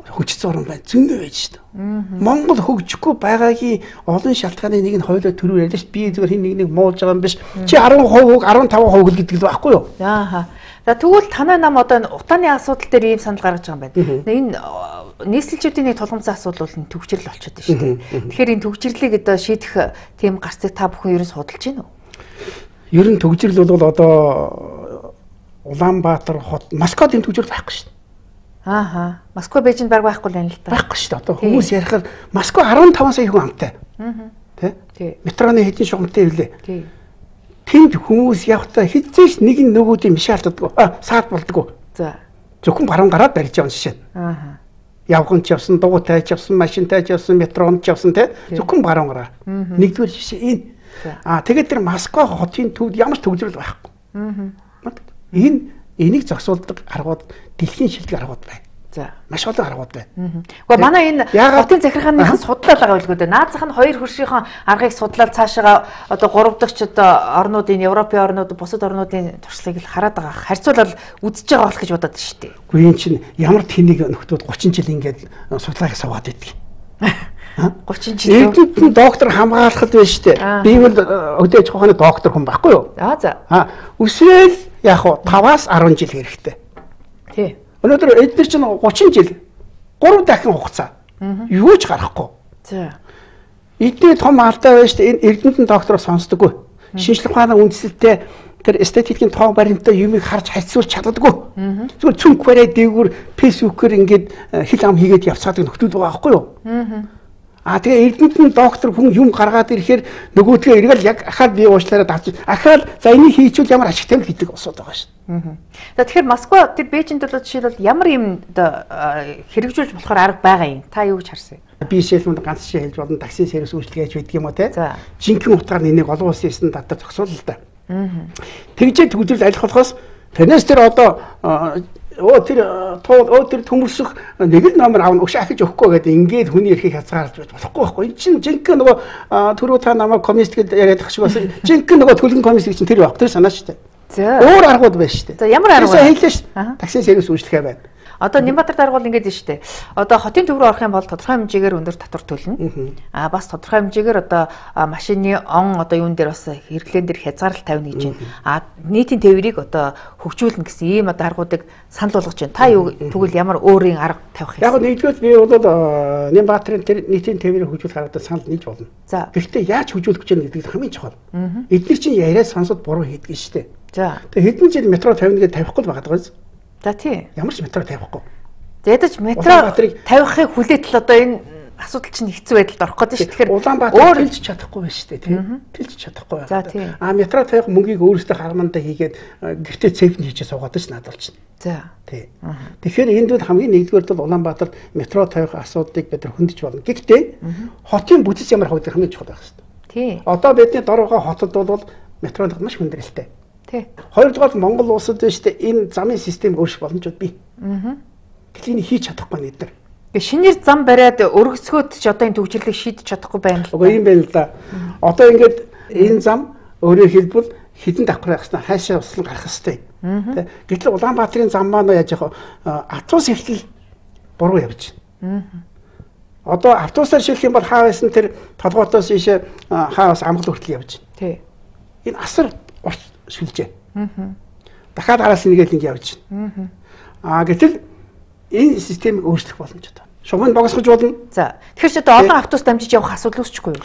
хөгжсөн орн байна. Зөндөө байж шүү дээ. Монгол хөгжихгүй байгаагийн олон шалтгааны нэг нь хоёулаа төрөөр ярьж би зүгээр хин нэг нэг муулж байгаа юм биш. Чи арван хувь арван таван хувь гэдэг л байхгүй юу? Ааха. За тэгвэл танай нам одоо утааны асуудал дээр ийм санал гаргаж байгаа юм байна. Энэ нийслэлчүүдийн нэг тулгамцсан асуудал бол төгжрөл болчиход байна шүү дээ. Тэгэхээр энэ төгжрлийг одоо шийдэх тийм гарцыг та бүхэн ерөн судалж байна уу? Ер нь төгжрөл бол одоо Улаанбаатар хот Москвад энэ төгжрөл байхгүй шүү дээ. Ааха. Москва Бээжинд баг байхгүй л байна л да. Байхгүй шүү дээ. Одоо хүмүүс ярихаар Москва арван таван сая хүн амтай. Аа. Тэ? Метроны хэдийн шугамтай ирлээ. Тий. Тэнд хүмүүс явахдаа хэзээ ч нэг нь нөгөөдөө мишээ алддаг. Аа, саад болдгоо. За. Зөвхөн баруун гараад барьж явна жишээ. Аа. Явган ч явсан, дугуйтай ч явсан, машинтай ч явсан, метронд ч явсан те. Зөвхөн баруун гараа. Нэгдүгээр жишээ энэ. Аа, тэгээд тэр Москва хотын төвд ямар ч төгжрөл байхгүй. Аа. Энэ энийг зогсуулдаг аргууд дэлхийн шилдэг аргууд байна. За. Маш олон аргууд байна. Гэхдээ манай энэ хотын захиргааныхан судлал байгаа билгүй дээ. Наазах нь хоёр хөршийнхөө аргыг судлаад цаашаа одоо гурав дахь ч одоо орнуудын Европын орнууд бусад орнуудын туршлагыг л хараад байгаа. Харьцуулбал үзэж байгаа болох гэж бодоод шүү дээ. Үгүй энэ чинь ямар тэнийг нөхдүүд гучин жил ингээд судалгааг суугаад байдаг. гучин жил. Эдгээр доктор хамгаалахад байна шүү дээ. Би бол өдөөж хохны доктор хүн байхгүй юу? Аа за. Аа үсрээл яг хуу таваас арван жил хэрэгтэй. Тий. Өнөөдөр эдгээр чинь гучин жил гурав дахин хугацаа. Юу ч гарахгүй. За. Эдний том алдаа байна шүү дээ. Энэ Эрдэнэтэн доктор сонсдоггүй. Шинжлэх ухааны үндэслэлтэй тэр эстетикийн тоо баримтаа юмыг харж харьцуулж чаддаггүй. Зүгээр цүнх барай дээгүүр фэйсбүүкээр ингээд хил ам хийгээд явцаадаг нөхдүүд байгаа байхгүй юу? Аа тэгээ Эрдэнэтэн доктор хүн юм гаргаад ирэхээр нөгөөдгөө эргэл яг ахаад бие уучлаараа давж ахаад за энийг хийчихвэл ямар ашигтай вэ гэдэг асуудал байгаа шүү. За тэгэхээр Москва тэр Бээжинд бол жишээлбэл ямар юм хэрэгжүүлж болохоор арга байгаа юм. Та юу гэж харсан юм? Би шилмэнд ганц шил хэлж болно. Такси сервис үйлчилгээч байдаг юм уу те? За. Жинхэнэ утгаар энийг олон улсын стандарт зохицуулна л да. Тэгжээ төгжрөл алих болохоос танаас тэр одоо оо тэр тоо оо тэр төмөрсөх нэг л номер аавна өш ахиж өгөхгүй гэдэг ингээд хүний эрхийг хязгаарлаж байж болохгүй байхгүй. Энэ чинь жинхэнэ нөгөө түрүү та намайг коммунист гэж яриад ах шиг бас жинхэнэ нөгөө төлгөн коммунист чинь тэр баг. Тэр санаа шүү дээ. За. Өөр аргууд байна шүү дээ. За ямар арга вэ? Хэлээ шүү дээ. Такси сервис үйлчлэгээ байна. Одоо Нямбатар дарга бол ингэж шүү дээ. Одоо хотын төв рүү орох юм бол тодорхой хэмжээгээр өндөр татвар төлнө. Аа бас тодорхой хэмжээгээр одоо машины он одоо юун дээр бас хэрэглэн дээр хязгаарлалт тавина гэж байна. Аа нийтийн тээврийг одоо хөгжүүлнэ гэсэн ийм одоо аргуудыг санал болгож байна. Та юу тэгвэл ямар өөрийн арга тавих юм? Яг нэгдүгээр би бол Нямбатрын тэр нийтийн тээврийг хөгжүүлэх аргад санал нийлж болно. За. Гэхдээ яаж хөгжүүлэх гэж байна гэдэг хамгийн чухал. Эдгээр чинь яриа сонсоод буруу хийдэг шүү дээ. За. Тэгээ хэдэн жил метро тавина гэж тавихгүй л байгаа даа. За тий. Ямар ч метро тавихгүй. Ядаж метро тавихыг хүлээтэл одоо энэ асуудал чинь хэцүү байдалд орох гэдэг шүү. Тэгэхээр Улаанбаатар төлж чадахгүй байна шүү дээ, тийм. Төлж чадахгүй байна. А метро тавих мөнгийг өөрөөсөө хармандаа хийгээд гэртээ цэвэн хийчихээ суугаад ш надад чинь. За. Тий. Тэгэхээр энд бол хамгийн нэгдүгээр бол Улаанбаатар метро тавих асуудлыг бид хөндөж болно. Гэхдээ хотын бүтэц ямар хавдаг хамгийн чухал байх шүү дээ. Тий. Одоо бидний дор байгаа хотод бол метронод маш хүндрэлтэй. Тий. Хоёрдугаар Монгол улсад байна шүү дээ. Энэ замын систем өөрчлөх боломжууд бий. Аа. Гэтэл хийж чадахгүй нэг дээр. Шинээр зам бариад өргөсгөөд ч одоо энэ төвчлөлийг шийдэж чадахгүй байна л. Үгүй юм байна л да. Одоо ингээд энэ зам өөрөөр хэлбэл хідэн давхар яхснаа хайшаа услан гарах хэвтэй. Тэ. Гэтэл Улаанбаатарын зам маань яаж яах вэ? Автобус эхлэл буруу явж байна. Одоо автобусаар шилжих юм бол хаа байсан тэр толгоотоос ийшээ хаа бас амгал хүртэл явж байна. Тий. Энэ асар урт шилжээ. Аа. Дахиад араас нэгээл ингэ явж байна. Аа гэтэл энэ системийг өөрчлөх боломжтой. Шугамд богсгож болно. За. Тэгэхээр ч одоо олон автобус дамжиж явах асуудал үүсчихгүй юу?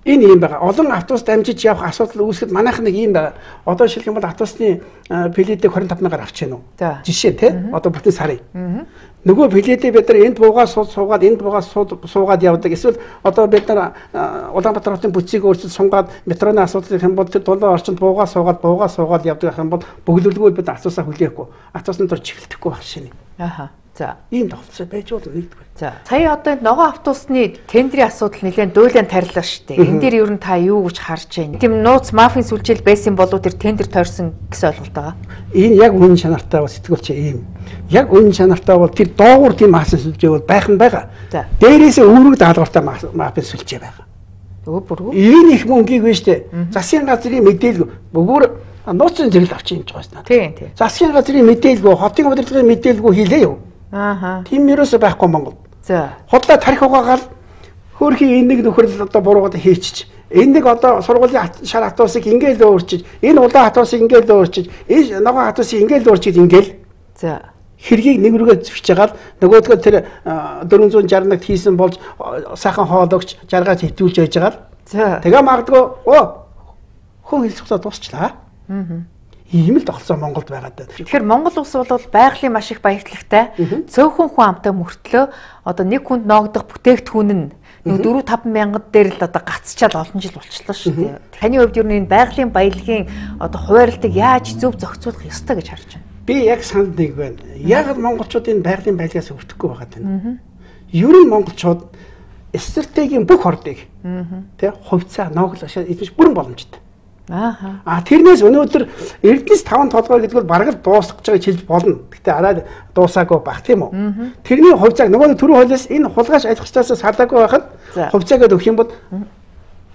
Энэ юм байгаа. Олон автобус дамжиж явах асуудал үүсгэхэд манайх нэг юм байгаа. Одоо жишээлх юм бол автобусны билетийг двадцать five мянгаар авч гэнэ үү? Жишээ тий. Одоо бүтэн сарын. Нөгөө билетийг бид нар энд буугаад суугаад энд буугаад суугаад явдаг. Эсвэл одоо бид нар Улаанбаатар хотын бүтцийг өөрчилж сунгаад метроны асуудал юм бол тэр дулаан орчинд буугаад суугаад буугаад суугаад явдаг юм бол бөглөлгөө бид автобусаа хүлээхгүй. Автобусны дор чиглэхгүй байх шинэ. Аха. За. Ийм тохиолдол байж болно нэгдүгээр. За. Сая одоо ногоон автобусны тендерийн асуудал нэлээд дуйлан тарилаа шүү дээ. Энд дээр ер нь та юу гэж харж байна? Тийм нууц мафийн сүлжээл байсан болов тэр тендер тойрсон гэсэн ойлголт байгаа. Энэ яг үнэн чанартай бол сэтгүүлч ийм. Яг үнэн чанартай бол тэр доогуур тийм мафийн сүлжээ бол байх нь байгаа. За. Дээрээсээ үүрэг даалгавартай мафийн сүлжээ байгаа. Өө бүргүү. Энэ их мөнгийг вэ штэ. Засгийн газрын мэдээлэл бүр нууцын зэрэг авчих юм ч байна. Тийм тийм. Засгийн газрын мэдээлэлгүй, хотын удирдлагын мэдээлэлгүй хийлээ юу? Ааха. Тийм ерөөсөө байхгүй Монгол. За. Худлаа тарих угаагаар хөөрхийн энэ нэг нөхрөл одоо буруугаад хийчих. Энэ нэг одоо сургуулийн шар автобусыг ингээл өөрчиж, энэ улаан автобусыг ингээл өөрчиж, энэ ногоон автобусыг ингээл өөрчиж ингээл. За. Хэргийг нэг рүүгээ зөвч жагаад нөгөөдгөө тэр four sixty-д хийсэн болж сайхан хоологч жаргаж хитүүлж байж байгаа. За. Тэгээ магадгүй оо хүн хэлцүүлээ дуусчлаа. Аа. Ийм л тогтсон Монголд байгаад байна. Тэгэхээр Монгол улс бол байгалийн маш их баярлагтай. Цөөхөн хүн амтай мөртлөө одоо нэг хүнд ноогдох бүтээгдэхүүн нь нэг four five мянган дээр л одоо гацчаал олон жил болчихлоо шүү дээ. Таны хувьд юу нэг байгалийн баялагын одоо хуваарлтыг яаж зөв зохицуулах ёстой гэж харж байна? Би яг санд нэг байна. Яг монголчууд энэ байгалийн баялагаас өвдөхгүй байгаад байна. Ер нь монголчууд стратегийн бүх ордыг тий хувьцаа ноогдол ашиг эзэмш бүрэн боломжтой. Аа. А тэрнээс өнөөдөр Эрдэнэс таван толгой гэдэг бол бараг л дуусах гэж байгааг хэлж болно. Гэтэ арай дуусаагүй байх тийм үү? Тэрний хувьцааг нөгөө түрүү хуулиас энэ хулгайч аж ахуйчдаас салаагүй байхад хувьцаагаа өгөх юм бол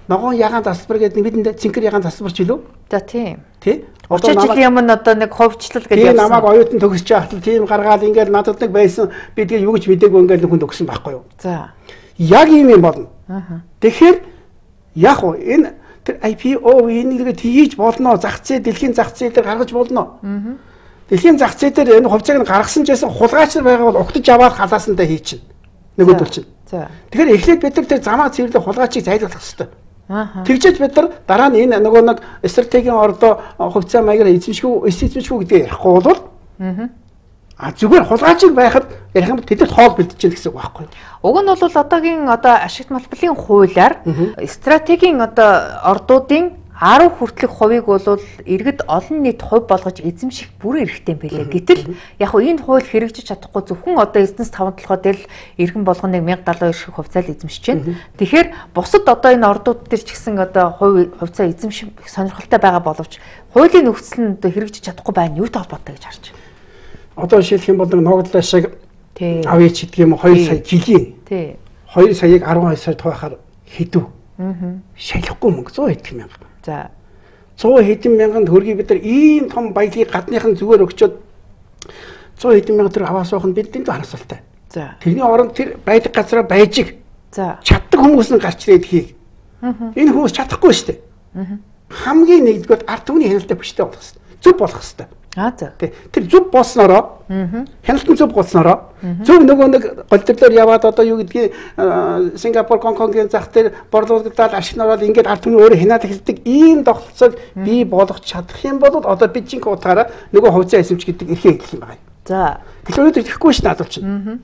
ногоон ягаан тасалбар гэдэг бидэнд цэнхэр ягаан тасалбарч илүү. За тийм. Тий? Одоо жилийн өмнө одоо нэг хувьчлал гэж явсан. Тийм намайг оюутан төгсөж байхад тийм гаргаад ингээд надад нэг байсан би тэгээ юу гэж мэдээгүй ингээд хүнд өгсөн байхгүй юу? За. Яг ийм юм болно. Аа. Тэгэхээр яг уу энэ тэр ай пи о энийг хийж болно. Зах зээл дэлхийн зах зээлээр гаргаж болно. Аа. Дэлхийн зах зээлээр энэ хувьцааг нь гаргасан ч гэсэн хулгайч нар байгаа бол угтаж аваад халаасандаа хийчихнэ. Нөгөөдөл чинь. За. Тэгэхээр эхлээд бид нар тэр замаа цэвэрлэх хулгайчийг зайлуулах хэрэгтэй. Аа. Тэгжээж бид нар дараа нь энэ нөгөө нэг стратегийн ордоо хувьцаа маягаар эзэмшгүй, эсэзэмшгүй гэдгийг ярихгүй бол аа. А зүгээр хулгайчиг байхад ярих юм тэдэд хоол бэлдэж чинь гэсэн үг байхгүй юу? Уг нь бол одоогийн одоо ашигт малбарын хуулиар стратегийн одоо ордуудын арав хүртэлх хувийг бол иргэд олон нийт хувь болгож эзэмших бүрэн эрхтэй байлээ. Гэтэл яг хөө энэ хууль хэрэгжиж чадахгүй зөвхөн одоо Эрдэнэс таван толгой дээр л иргэн болгоныг мянга даалгавар шиг хувьцаал эзэмшиж байна. Тэгэхээр бусад одоо энэ ордууд дээр ч гэсэн одоо хувь хувьцаа эзэмших сонирхолтой байгаа боловч хуулийн нөхцөл нь одоо хэрэгжиж чадахгүй байна. Юутай холбоотой гэж харж байна? Одоо жишээлх юм бол ногдлоо шиг авъя ч гэдэг юм хоёр сая жилийн. Тий. хоёр саяыг арван хоёр сая тохиохоор хэдв. Аа. Шалахгүй мөнгө зуун хэдэн мянга. За. зуун хэдэн мянган төгрөгийг бид нар ийм том баялагийг гадныхан зүгээр өгчөөд зуун хэдэн мянга төгрөг аваад суух нь бидний харасалтай. За. Тэрний оронд тэр байдаг газараа байж. За. Чаддаг хүмүүс нь гарч ирээд хийх. Аа. Энэ хүмүүс чадахгүй шүү дээ. Аа. Хамгийн нэгдүгээр ард түмний хяналттай бүштэй болох хэрэгтэй. Зөв болох хэрэгтэй. Аа за. Тэр зөв болсноороо хяналт нь зөв болсноороо зөв нөгөө нэг голдөрлөөр яваад одоо юу гэдгийг Сингапур, Гонконгийн зах дээр борлуулагдаад ашиг нөрөөд ингээд ард түмний өөрөө хянаад эхэлдэг ийм тогтолцоог бий болгох чадах юм бол одоо бид чинь утгаараа нөгөө хувьцаа эсэмч гэдэг эрхээ хэлэх юм байна. За. Тэгэхээр өнөөдөр ихгүй ш надад чинь.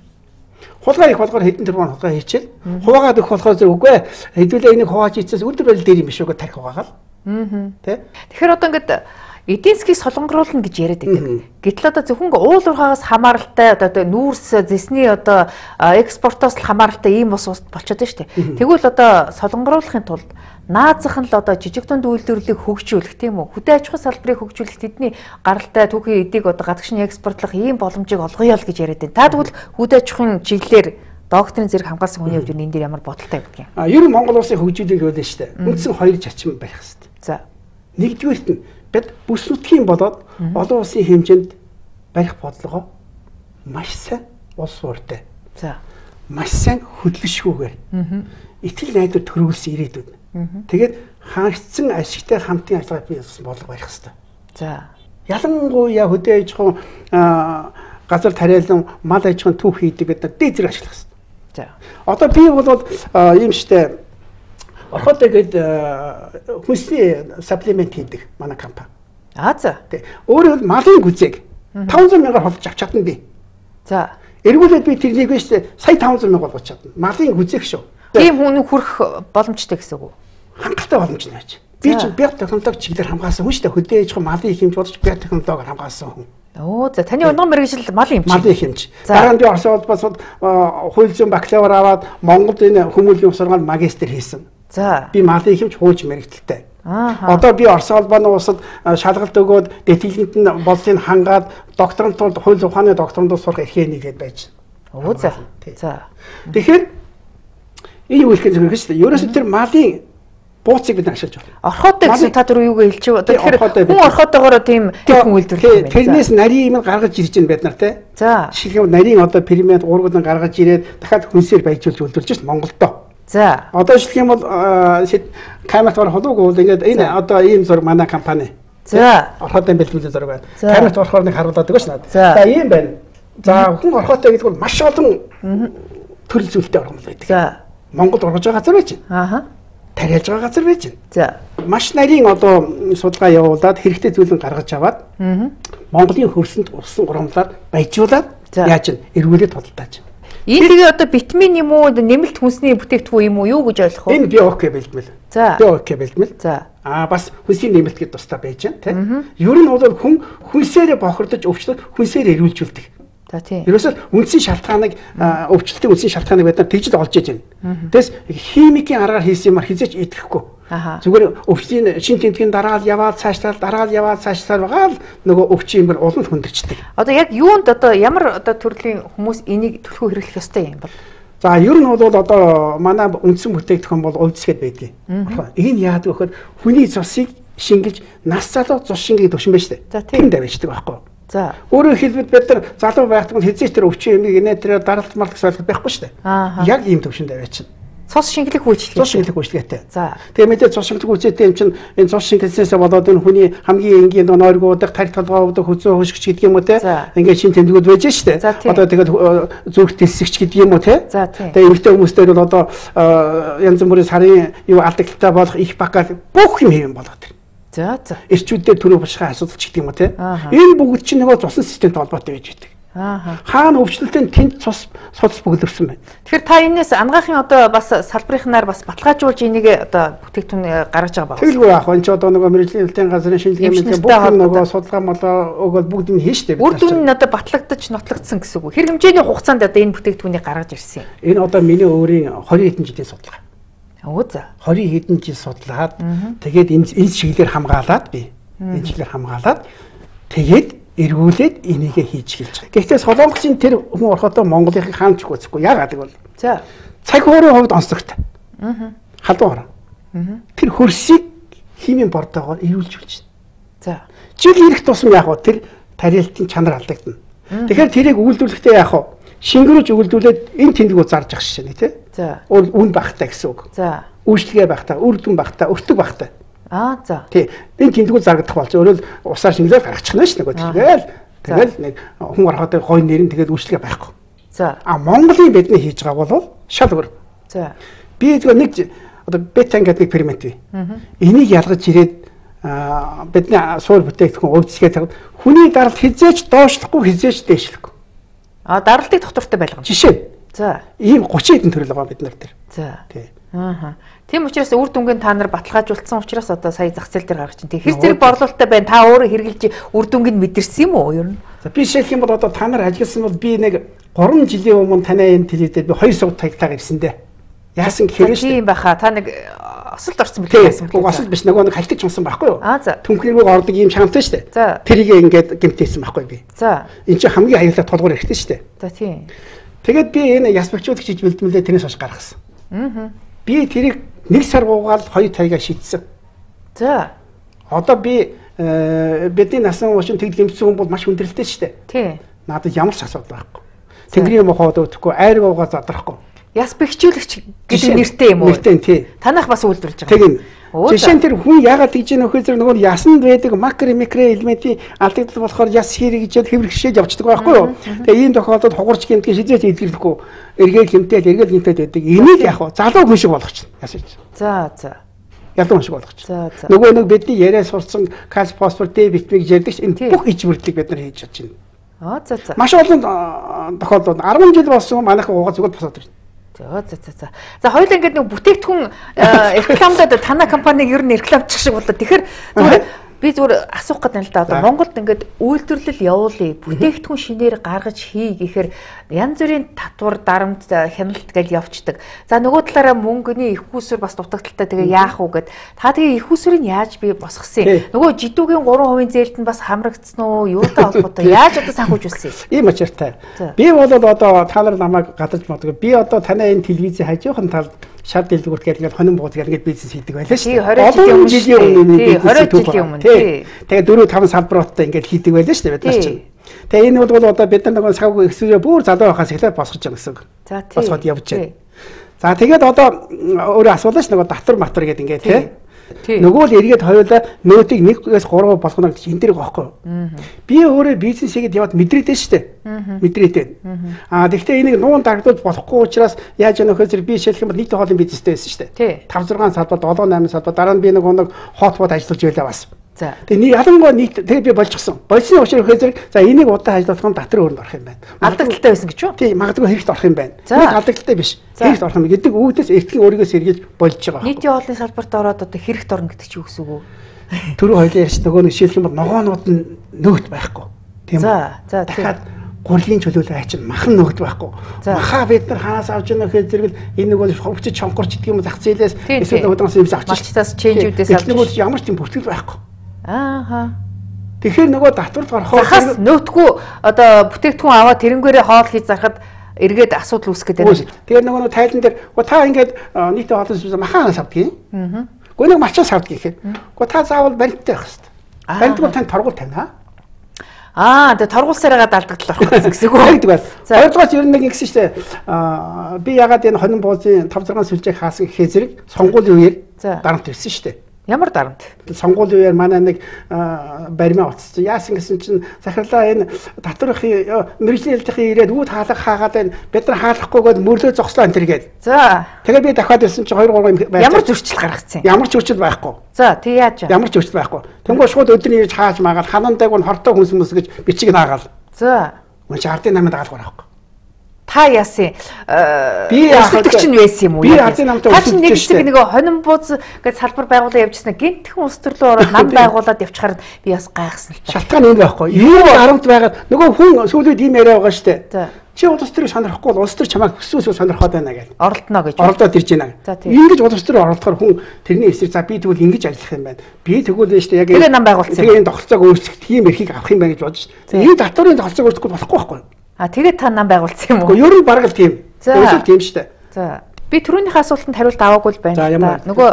Хулгай их болгоор хэдэн тэрбум хулгай хийчихэл хуваагаад өгөх болохоор зөв үгүй хэдүүлээ энийг хувааж ийцээс үлдэр барил дээр юм биш үгүй тарих хуваагаал. Аа. Тэ? Тэгэхээр одоо ингээд эдийн засгийг солонгоруулна гэж яриад байдаг. Гэтэл одоо зөвхөн уул уурхаагаас хамааралтай одоо нүүрс зэсний одоо экспортоос л хамааралтай ийм ус болчиход байна шүү дээ. Тэгвэл одоо солонгоруулахын тулд наазах нь л одоо жижиг дунд үйлдвэрлэлийг хөгжүүлэх тийм үү? Хөдөө аж ахуй салбарыг хөгжүүлэх тэдний гаралтай түүхийн эдийг одоо гадагшны экспортлох ийм боломжийг олгоё л гэж яриад байна. Та тэгвэл хөдөө аж ахуйн чиглэлээр докторийн зэрэг хамгаалсан хүний хувьд энэ дээр ямар бодолтой байдаг юм? А ер нь Монгол улсын хөгжүүлэлт байлаа шүү дээ. Үндсэн хоёр чачим байх хэрэгтэй. За. Нэгдүгээрт нь бид бүс нутгийн болоод олон улсын хэмжээнд барих бодлогоо маш сайн улс ууртай. За. Маш сайн хөдөлгөшгүйгээр. Итгэл найдвар төрүүлсэн ирээдүйд. Тэгээд хангалтсан ашигтай хамтын ажиллагаа бий болсон бодлого барих хэрэгтэй. За. Ялангуяа хөдөө аж ахуйн газар тариалан мал аж ахуйн түүх хийдэг гэдэг дээд зэрэг ашиглах хэрэгтэй. За. Одоо би бол ийм штэ орхотой гээд хүнсний саплимент хийдэг манай компани. Аа за. Тэ. Өөрөө бол малын гүзээг таван зуун мянгаар холж авч чадна би. За. Эргүүлээд би тэрнийг биш сая таван зуун мянга болгож чадна. Малын гүзээг шүү. Тийм хүн хүрэх боломжтой гэсэн үг үү? Хангалттай боломж нь байж. Би ч биотехнологи чиглэлээр хамгаалсан хүн шүү дээ. Хөдөө аж ахуйн малын их хэмж болж биотехнологиор хамгаалсан хүн. Оо за таны өнөө мэргэжил малын хэмж. Малын хэмж. Дараа нь би Орос улсад хууль зүйн бакалавр аваад Монголд энэ хүмүүлийн сургаалд магистр хийсэн. За. Би малын хэмж хууч мэрэгдэлтэй. Аа. Одоо би Орос улбаны улсад шалгалт өгөөд дэтгэлэнт нь болсыг хангаад докторантууд хууль ухааны докторантууд сурах эрхээ нэгээд байж. Оо за. За. Тэгэхээр энэ юу хэлэх юм бэ? Ерөөсөө тэр малын бууцыг бид ашиглаж байна. Орхотой гэсэн та түрүү юуг хэлж байгаа. Тэгэхээр хүн орхотойгоор тийм хүн үйлдвэрлэх юм байна. Тэрнээс нарийн юм гаргаж ирж байна бид нар те. За. Жишээлбэл нарийн одоо премиад уургууд нь гаргаж ирээд дахиад хүнсээр баяжуулж үйлдвэрлэж байна Монголдоо. За. Одоо жишээлх юм бол камерт ороход уу ингээд энэ одоо ийм зураг манай компани. За. Орхотой бэлтгэл зураг байна. Камерт орохоор нэг харуулдаг ш надад. За ийм байна. За хүн орхотой гэдэг бол маш олон төрөл зүйлтэй орхол байдаг. За. Монголд орж байгаа газар байж байна. Ааха. Тариалж байгаа газар байж байна. За. Маш нарийн одоо судалгаа явуулаад хэрэгтэй зүйлэн гаргаж аваад Монголын хөрсөнд усан урамлаар баяжуулаад яаж нь эргүүлээд тодтолтааж. Энэ тэгээ одоо витамин юм уу нэмэлт хүнсний бүтээгдэхүүн юм уу юу гэж ойлгох вэ? Энэ биок бэлтгэл. За. Биок бэлтгэл. За. Аа бас хүнсний нэмэлт гэдэг тустай байж байна тийм. Ер нь бол хүн хүнсээрээ бохирдож өвчлөд хүнсээр эрүүлжүүлдэг. За тийм. Ерөөсөө үндсийн шалтгааныг өвчлөлтийн үндсийн шалтгааныг бид нар тэгж л олж иж байна. Тэгээс химикийн аргаар хийсэн юмар хизээч идэхгүй. Зүгээр өвчтөний шин тэмдгийн дараал яваад цаашлаад дараал яваад цаашлаад байгаа л нөгөө өвчин юм бол улам хөндөрчдөг. Одоо яг юунд одоо ямар одоо төрлийн хүмүүс энийг төлхөө хэрэглэх ёстой юм бол? За ер нь бол одоо манай үндсэн бүтээгдэхүүн бол увдсгээд байдаг. Энэ яадаг вэ гэхээр хүний цусыг шингэлж нас залуу цус шингийг төвшин байж тээ. Тийм давьждаг байхгүй юу? За. Өөрөөр хэлбэл бид нар залуу байхдаа хэзээ ч тэр өвчин юм инээ тэр даралт марлах солих байхгүй шүү дээ. Яг ийм төвшин давьж чинь. Цус шингэлэх үйлчлэг. Цус шингэлэх үйлчлэгтэй. За. Тэгээ мэдээ цус шингэлэх үйлчлэгтэй юм чинь энэ цус шингэлснээс болоод энэ хүний хамгийн энгийн нойргуудах, тарих толгоодох, хөзөө хөшгч гэдэг юм уу те. Ингээд шин тэмдгүүд байж штэ. Одоо тэгээд зүрх дэлсэгч гэдэг юм уу те. Тэгээ эмэгтэй хүмүүстэй бол одоо янз бүрийн сарын юу алдагтай болох их бакал бүх юм хэвэн болоод байна. За за. Эрчүүдээр төрөө бушгаа асуудал ч гэдэг юм уу те. Энэ бүгд чинь нөгөө цусан системтэй холбоотой байж байдаг. Аа. Хаана өвчлөлтөнд тэнд цус судас бүглэрсэн байна. Тэгэхээр та энэс ангаахын одоо бас салбарынхнаар бас баталгаажуулж энийг одоо бүтээгдэхүүн гаргаж байгаа байна. Тэгэлгүй яах вэ? Энд ч одоо нөгөө мэргэжлийн хэлтийн газрын шинжилгээ мэдээ бүх нөгөө судалгаа молоо өгөөл бүгд нь хийн штэ. Үр дүн нь одоо батлагдаж нотлогдсон гэсэн үг. Хэрэг хэмжээний хугацаанд одоо энэ бүтээгдэхүүнийг гаргаж ирсэн юм. Энэ одоо миний өөрийн двадцать хэдэн жилийн судалгаа. Оо за. двадцать хэдэн жил судлаад тэгээд энэ энэ чиглэлээр хамгаалаад би энэ чиглэлээр хамгаалаад тэгээд эргүүлээд энийгээ хийж эхэлж байгаа. Гэхдээ солонгосын тэр хүн орохотоо Монголынхыг хаанч үзэхгүй. Яагаад гэвэл за цаг хуурийн хувьд онцлогтой. Аа. Халуун орон. Аа. Тэр хөрсийг химийн бордоогоор эрүүлж үлж байна. За. Жил ирэх тусам яг гоо тэр тарилтын чанар алдагдана. Тэгэхээр тэрийг үйлдвэрлэхдээ яг гоо шингэрүүлж үйлдвэрлээд энэ тэмдгүүд зарж ах шишээ тий. За. Үн багтай гэсэн үг. За. Үйлчлэгээ багтай, үр дүн багтай, өртөг багтай. Аа за. Тий. Энэ тэмдгүүд зарагдах болж өөрөө л усаар шингэлээд гаргачих нь ш нөгөө тэгэл тэгэл нэг хүн ороход гой нэр нь тэгээд үйлчлэгээ байхгүй. За. А Монголын бидний хийж байгаа бол шал өөр. За. Би зөв нэг одоо бетан гэдэг фермент бий. Энийг ялгаж ирээд бидний суур бүтээгдэхүүн өвдсгээд хүний даралт хизээч доошлохгүй хизээч дээшлэхгүй. А даралтыг доктортой байлгана. Жишээ. За. Ийм тридцать хэдэн төрөл байгаа бид нар дээр. За. Тий. Аа. Тийм учраас үр дүнгийн та нар баталгаажуулсан учраас одоо сая зах зээл дээр гаргаж байна. Тэр зэрэг борлуулалттай байна. Та өөрөө хэрэгжилж үр дүнгийг мэдэрсэн юм уу ер нь? За би шилэх юм бол одоо та нар ажилласан бол би нэг гурван жилийн өмнө танай энэ телевизээр би хоёр сууд таягтаа ирсэн дээ. Яасан гэхээр шүү. Тийм баха. Та нэг осолд орсон билээ яасан бэ? Осолд биш нөгөө нэг хальтаж унсан байхгүй юу? Аа за. Түнхрийгөө ордог ийм чанартай шүү дээ. Тэрийг ингээд гэмтээсэн байхгүй би. За. Энд чинь хамгийн аюултай толгуур хэрэгтэй шүү дээ. За тийм. Тэгээд би энэ яс бэлчүүлэгч хийж бэлдмэлээ тэрнээс хойш гаргасан. Аа. Би тэрийг нэг сар гуугаал хоёр тайгаа шийдсэн. За. Одоо би бидний насан уушин тэгд гэмтсэн хүн бол маш хүндрэлтэй шүү дээ. Тий. Надад ямар ч асуудал байхгүй. Тэнгэрийн мохоод өгөхгүй, айр гуугаа задрахгүй. Яс бэхжүүлэгч гэдэг нэртэй юм уу? Нэртэй тий. Танах бас үйлдвэрлэж байгаа. Тийм. Жишээ нь тэр хүн яагаад тэгж яах вэ гэхээр нөгөө ясанд байдаг макро микро элементийн алдагдал болохоор яс хэрэгжээд хэврэгшээд явчихдаг байхгүй юу? Тэгээ ийм тохиолдолд хугарч гэмтгий шийдэж илгэрлэхгүй эргээл гэмтэл эргээл гэмтээд байдаг. Энийг яах вэ? Залуу хүн шиг болгочихно. Яс гэж. За за. Ялуу хүн шиг болгочихно. За за. Нөгөө нэг бидний яриа сурсан кальц фосфор Д витаминыг ярьдаг энэ бүх иж бүрдлийг бид нар хийж чадж байна. Аа за за. Маш олон тохиолдолд арван жил болсон манайхан уугаа зүгээр босоод ирнэ. За за за. За хоёул ингээд нэг бүтээгдэхүүн рекламдад танай компаниг ер нь рекламчих шиг болоо. Тэгэхээр зүгээр би зүгээр асуух гэдэг нь л да. Одоо Монголд ингээд үйлдвэрлэл явуулъя, бүтээгдэхүүн шинээр гаргаж хий гэхээр янз бүрийн татвар, дарамт, хяналт гэж явцдаг. За нөгөө талаараа мөнгөний их усүр бас дутагдaltaй тэгээ яах уу гэд. Та тэгээ их усүрийг яаж би босгосон юм? Нөгөө жидүүгийн гурван хувийн зээлд нь бас хамрагдсан уу? Юутай холбоотой? Яаж одоо санхүүжүүлсэн юм? Ийм очиртай. Би бол одоо та нар намайг гадаж моддог. Би одоо танай энэ телевизийн хажуухан талд шав дэлгүүрт гээд ингээд хонин бууз гээд ингээд бизнес хийдэг байлаа шүү дээ. двадцать жилийн өмнө бизнес жилийн өмнө тий. Тэгээ дөрөв таван салбаруудтай ингээд хийдэг байлаа шүү дээ бид нар чинь. Тэгээ энэ бол одоо бид нар нөгөө сав эксүрээ бүр залуу байхаас эхлээд босгож байгаа гэсэн үг. За тий. Босгоод явж байна. За тэгээд одоо өөрөө асуулаа ш нөгөө татвар матвар гээд ингээд тий. Нөгөө л эргээд хоёулаа нөөтийг нэгээс гурав болгоно гэж энэ дэрэг байхгүй юу? Би өөрөө бизнес хийгээд яваад мэдрээдээ шүү дээ. Мэдрээдээ. Аа тэгвэл энийг нуун дагдуулж болохгүй учраас яаж яах вэ гэхээр би шилэх юм бол нийт хоолын бизнестэй байсан шүү дээ. тавь зургаан салбар, долоо найман салбар дараа нь би нэг нэг хот бод ажиллаж байлаа бас. За. Тэгээ ялангуяа нийт тэгээ би болчихсон. Болсны учраас хэрэг за энийг удаа ажиллах нь татвар өрөнд орох юм байна. Алдагдaltaй байсан гэж юу? Тийм, магадгүй хэрэгт орох юм байна. Нэг алдагдaltaй биш. Хэрэгт орох юм гэдэг үүдээс эртний өөрийгөө сэргийлж болж байгаа. Нийтийн хоолны салбарт ороод одоо хэрэгт орно гэдэг чи юу гэсэн үг вэ? Түрүү хоёлаа ярьж нөгөө нэг шилэх юм бол ногоонууд нь нөт байхгүй. Тийм. За, за тийм. гурлийн чөлөөлөл айч махан нөгд байхгүй. Маха бид нар хаанаас авч яана гэхээр зэрэг энэ нөгөө хөвчөж чонгорч гэдэг юм зах зээлээс эсвэл удаас юм авч. Малчтаас ченжүүдээс авч. Нөгөө ямар ч тийм бүртгэл байхгүй. Ааха. Тэгэхээр нөгөө татварт гарахаар захаас нөтгөө одоо бүтээгдэхүүн аваад тэрнгээрээ хоол хийж зарахад эргээд асуудал үүсгэж байна. Тэгээд нөгөө тайлан дээр та ингээд нийтээ хоолсон махаанаас авдгийг. Аа. Гэхдээ нэг малчаас авдгийг гэхээр. Гэхдээ та заавал баримттай байх хэрэгтэй. Баримтгүй танд торгуул тавина. Аа, тэгээ торгуулсараа далдагдлах гэсэн үг үү? Тэгдэг байна. Хоёрдугаар ер нь нэг ингэсэн шүү дээ. Аа, би ягаад энэ хонин боозын тавь зургаан сүлжээг хаасан гэхээ зэрэг сонгуулийн үеэр дарамт ирсэн шүү дээ. Ямар дарамт? Сонгуулийн үеэр манай нэг баримаа утассан. Яасан гэсэн чинь захирлаа энэ татврын мэрэгжлийн хэлтийн ирээд үүд хаалга хаагаад байна. Бид нар хаалгахгүйгээд мөрлөө зогслоо энэ төргээд. За. Тэгээ би дахиад ирсэн чинь хоёр гурван байна. Ямар зөрчил гаргацсан? Ямар ч зөрчил байхгүй. За, тэг яаж вэ? Ямар ч зөрчил байхгүй. Тэнгүү шууд өдрийн ирж хааж маагаад ханандаг нь хортой хүнс мүс гэж бичиг наагаал. За. Мөн чи ардын намайг дагалгар байхгүй. Та яасан би өсөлтөгч нь байсан юм уу? Би ардын намтай өсөлтөгч. Та нэг хэсэг нөгөө хонин бууз гэж салбар байгуулаад явжсэн. Гинтхэн улс төрлөө ороод нам байгуулад явчихаар би бас гайхсан л та. Шалтгаан энэ байхгүй. Юу дарамт байгаад нөгөө хүн сүүлүүд ийм яриа байгаа шүү дээ. Чи улс төрийг сонирхгүй бол улс төр чамайг хүсвэсөө сонирхоод байна гэж. Оролдоно гэж. Оролдоод ирж байна. Ингэж улс төр оролдохоор хүн тэрний эсрэг за би тэгвэл ингэж ажиллах юм байна. Би тэгвэл нь шүү дээ яг тэгээ нам байгуулсан. Тэгээ энэ тогтолцоог өөрчлөх тийм эрхийг авах юм байна гэж бодож шүү дээ. Энэ татварын тогтолцоог өөрчлөхгүй болохгүй байхгүй. А тэгээд та нам байгуулсан юм уу? Уу ер нь бараг л тийм. Өөрөөр тийм шүү дээ. За. Би түрүүнийхээ асуултанд хариулт аваагүй л байна л да. Нөгөө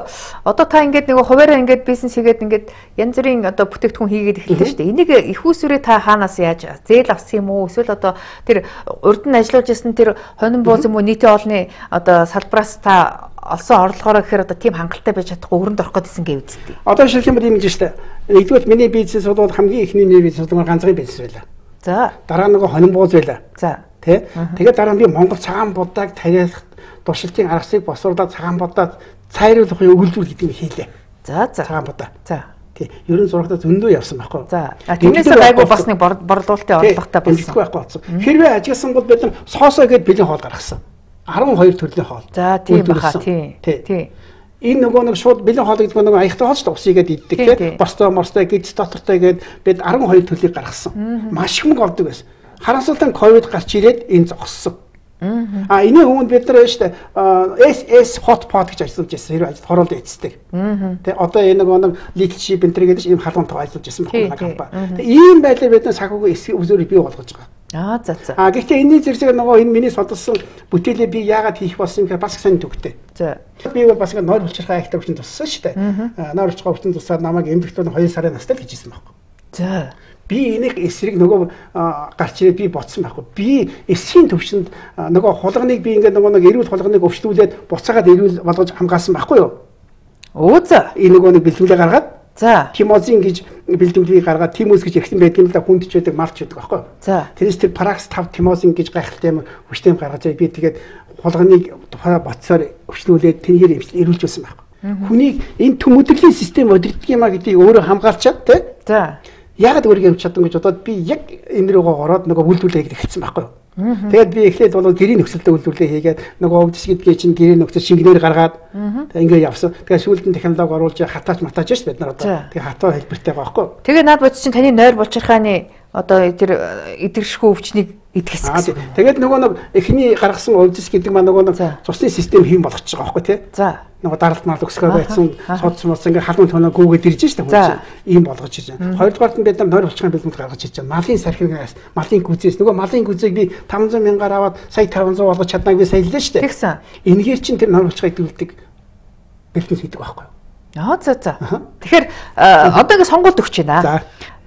одоо та ингээд нөгөө хуваараа ингээд бизнес хийгээд ингээд янз бүрийн одоо бүтээгдэхүүн хийгээд эхэллээ шүү дээ. Энийг их усүрээ та хаанаас яаж зээл авсан юм уу? Эсвэл одоо тэр урд нь ажиллаж исэн тэр хонин бууз юм уу нийтийн олны одоо салбараас та олсон орлогоороо гэхээр одоо тийм хангалттай байж чадахгүй өрөнд орох гэдсэн гэв үсттэй. Одоо шилжүүлэх юм ийм гэж шүү дээ. Нэгдүгээр миний бизнес бол хамгийн ихний бизнес бол ганцхан бизнес байлаа. За. Дараа нь нөгөө хонин бууз байлаа. За. Тэ? Тэгээд дараа нь би Монгол цагаан будааг тариалах туршилтын аргасыг босруулаад цагаан будаад цайруулахын өгүүлбэр гэдэг юм хийлээ. За за. Цагаан будаа. За. Тий. Ерөн зурагтаа зөндөө явсан байхгүй. За. Тэрнээсээ гайгүй бас нэг борлуулалтын орлоготой болсон. Байхгүй болсон. Хэрвээ ажигласан бол бид нар соосоо гээд бэлэн хоол гаргасан. арван хоёр төрлийн хоол. За тийм баха тий. Тий. Энэ нөгөө нэг шууд бэлэн хоол гэдэг нөгөө аяхтай хоол шүү дээ. Усыгээд иддэг тий. Борстой морстой гиз дотортой гээд бид арван хоёр төрлийг гаргасан. Маш их мөнгө олдог байсан. Харамсалтай ковид гарч ирээд энэ зогссон. А энэ хүмүүс бид нар шүү дээ эс эс hotpot гэж ажиллаж байсан. Хэрэг ажил хороолт эцдэг. Тэ одоо энэ нэг leadership энэ гэдэг ийм халуунтай ажиллаж байсан байна компани. Ийм байдлаар бид нар санхүүгийн эсрэг үзүүрийг бий болгож байгаа. Аа за за. А гэхдээ энэний зэрэг нөгөө энэ миний судалсан бүтээлээ би яагаад хийх болсон юм гэхээр бас сайн төгтэй. За. Би бол бас ингэ нойр булчирхай ахтай хүчин туссан шүү дээ. Нойр булчирхай хүчин тусаад намайг эмдэгтүүд хоёр сарын настай л хийжсэн байхгүй. За. Би энийг эсрэг нөгөө гарч ирээд би ботсон байхгүй. Би эсхийн төвшөнд нөгөө хулганыг би ингээд нөгөө нэг эрүүл хулганыг өвчлүүлээд буцаагаад эрүүл болгож хамгаалсан байхгүй юу? Оо за. Энэ нөгөө нэг бэлтгэлээ гаргаад за тимозин гэж бэлтгэлийг гаргаад тимоз гэж ихсэн байдаг юм да хүнд ч байдаг марч байдаг байхгүй юу? За. Тэрээс тэр паракс тавь тимозин гэж гайхалтай юм хүчтэй гаргаж би тэгээд хулганыг тухай боцоор өвчлүүлээд тэрээр эрүүлж байсан байхгүй. Хүнийг энэ төмөдөрлийн систем өдөрдөг юм а гэдгийг өөрөө хамгаалчаад тий? За. Яг өөрийгөө авч чадсан гэж бодоод би яг энэ рүүгээ ороод нөгөө үйлдвэрлэлийг эхэлсэн байхгүй юу. Тэгээд би эхлээд бол гэрийн нөхцөлтэй үйлдвэрлэлээ хийгээд нөгөө өвдөс гэдгээ чинь гэрийн нөхцөл шингэнээр гаргаад ингээд явсан. Тэгээд сүүлд нь технологи оруулж хатаач матаач шүү бид нар одоо. Тэгээд хатаа хэлбэртэй байгаа байхгүй юу. Тэгээд наад бод чинь таны нойр булчирхааны одоо тэр эдгэршгүй өвчнийг идгэсэн гэсэн. Тэгээд нөгөө нэг эхний гаргасан өвдөс гэдэг маань нөгөө нэг цусны систем хийм болгочих байгаа байхгүй тий. За. Нөгөө даралт мал өсгөө байцсан судс мус ингээд халуун тоноо гүгээд ирж штэ хүн ийм болгож ирж байна. Хоёрдугаарт нь бид нар нойр булчирхааны бэлтгэл гаргаж ирж байна. Малын сархинаас малын гүзээс нөгөө малын гүзээг би таван зуун мянгаар аваад сая таван зуун болгож чаднаг би саяллаа штэ. Тэгсэн. Энэгээр чинь тэр нойр булчирхааг дүүлдэг бэлтгэл хийдэг байхгүй юу? Аа за за. Тэгэхээр одоо ингэ сонгуульд өгч байна. За.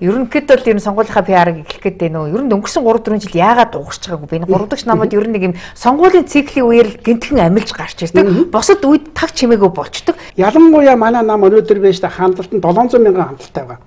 Ерөнхийдөө бол ер нь сонгуулийнхаа пи ар-ыг эхлэх гэдэг нөө ер нь өнгөрсөн гурав дөрвөн жил яагаад дуусч байгаагүй би энэ гурав дахь намайд ер нь нэг юм сонгуулийн циклийн үеэр л гинтхэн амилж гарч ирдэг. Босод үед таг чимээгүй болчдөг. Ялангуяа манай нам өнөөдөр байж та хандлалт нь долоон зуун мянган хандлалтай байгаа.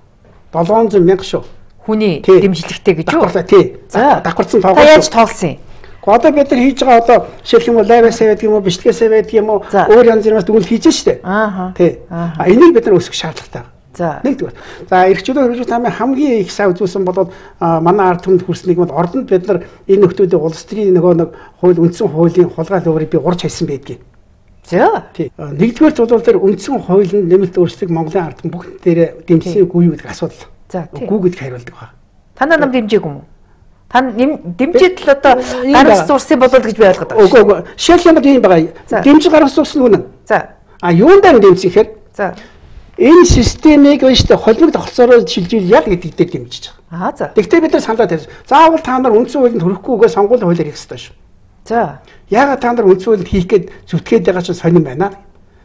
долоон зуун мянга шүү. Хүний дэмжлэгтэй гэж юу? Тий. За давхарсан тоогоо. Та яаж тоолсон юм? Одоо бид нар хийж байгаа одоо жишээлх юм уу лайвасаа байдаг юм уу бичлэгээсээ байдаг юм уу өөр янз бүрээс дүгнэлт хийж штэ. Аа. Тий. А энийг бид нар өсгөх шаардлагатай. За нэгдүгээр. За эрхчлөө хөрвүүлж тамийн хамгийн их сав үзүүлсэн бол манай ард түмэнд хүрснийг бол ордонд бид нар энэ нөхдүүдийн улс төрийн нөгөө нэг хууль үндсэн хуулийн хулгай өөрийг би урж хайсан байдгийг. За. Тий. Нэгдүгээр бол тэр үндсэн хуулийн нэмэлт өөрчлөлт Монголын ард түмэн бүгд дээр дэмжсэн үгүй юу гэдэг асуудал. За тий. Үгүй гэдгийг хариулдаг ба. Танаа нам дэмжээгүй юм уу? Та дэмжиж л одоо гаргаж зурсан болов гэж би ойлгоод байна. Үгүй үгүй. Шилжүүлэлт юм байгаа. Дэмжиж гаргаж зурсан үнэн. За. А юундаа дэмжих гэхээр за. Энэ системийг өштэй холбог тогтолцоороо шилжүүл ял гэдэг дээр дэмжиж Аа байгаа. за. Тэгтээ бид нар саналаа тавьсан. Заавал та нар үндсэн хуулинд хүрэхгүйгээ сонгуулийн хуулиар хийх ёстой шүү. За. Яагаад та нар үндсэн хуулинд хийх гээд зүтгээд байгаа чинь сонирн байна.